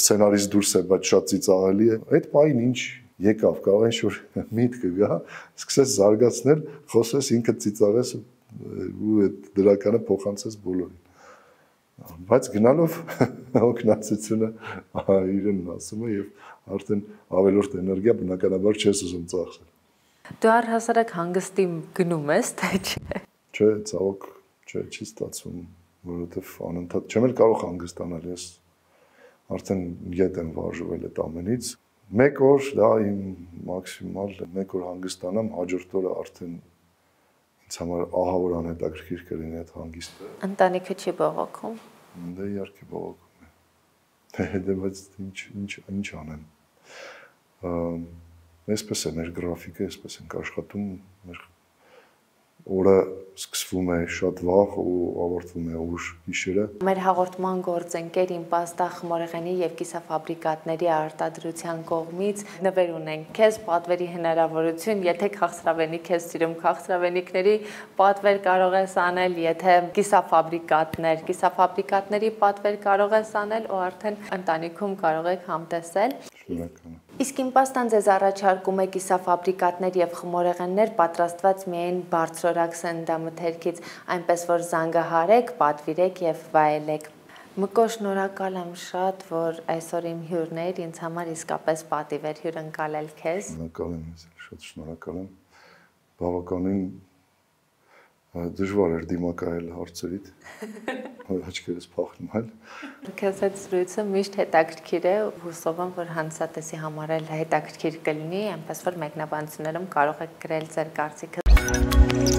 սցենարից դուրս է, բայց շատ ծիծաղելի է։ Այդ բանին ինչ եկավ, կարող է ինչ-որ միտքը գա, սկսես զարգացնել, խոսես ինքդ ծիծաղես ու այդ դրականը փոխանցես բոլորին։ Բայց գնալով հոգնածությունը իրեն ասում է եւ արդեն ավելորդ էներգիա բնականաբար չես ուզում ծախսել։
Դու առհասարակ հանգստի գնում ես, թե չէ։
Չէ, ցավոք, չէ, չի ստացվում, որովհետեւ անընդհատ չեմ էլ կարող հանգստանալ, ես արդեն ետ եմ վարժվել այդ ամենից։ Մեկ օր դա իմ մաքսիմալ մեկ օր հանգստանամ, հաջորդ օրը արդեն ինձ համար ահավոր անհետաքրքիր կլինի այդ հանգիստը։
Ընտանիքը չի բողոքում։
Դե իհարկե բողոքում է։ Դե բայց ինչ ինչ ինչ անեմ։ Այսպես է մեր գրաֆիկը, այսպես ենք աշխատում, մեր օրը սկսվում է շատ վաղ ու ավարտվում է ուշ գիշերը։
Մեր հաղորդման գործընկեր Իմպաստա խմորեղենի եւ կիսաֆաբրիկատների արտադրության կողմից նվեր ունենք քեզ պատվերի հնարավորություն, եթե քաղցրավենիք ես սիրում, քաղցրավենիքների պատվեր կարող ես անել, եթե կիսաֆաբրիկատներ, կիսաֆաբրիկատների պատվեր կարող ես անել ու արդեն ընտանիքում կարող եք համտեսել։
Շնորհակալ եմ։
Իսկ Իմպաստան ձեզ առաջարկում է կիսաֆաբրիկատներ եւ խմորեղեններ պատրաստված միայն բարձրորակ սննդամթերքից, այնպես որ զանգահարեք, պատվիրեք եւ վայելեք։ Մկո, շնորհակալ եմ շատ, որ այսօր իմ հյուրն էր, ինձ համար իսկապես պատիվ էր հյուրընկալել քեզ։
Շնորհակալ եմ, շատ շնորհակալ եմ։ Բավականին դժվար էր դիմակայել հարցերիդ, աչքերս փախնում այլ։
Քեզ այդ զրույցը միշտ հետաքրքիր է, հուսով եմ, որ հանրատեսի համար էլ հետաքրքիր կլինի, այնպես որ մեկնաբանություններում կարող եք գրել ձեր կարծիքը։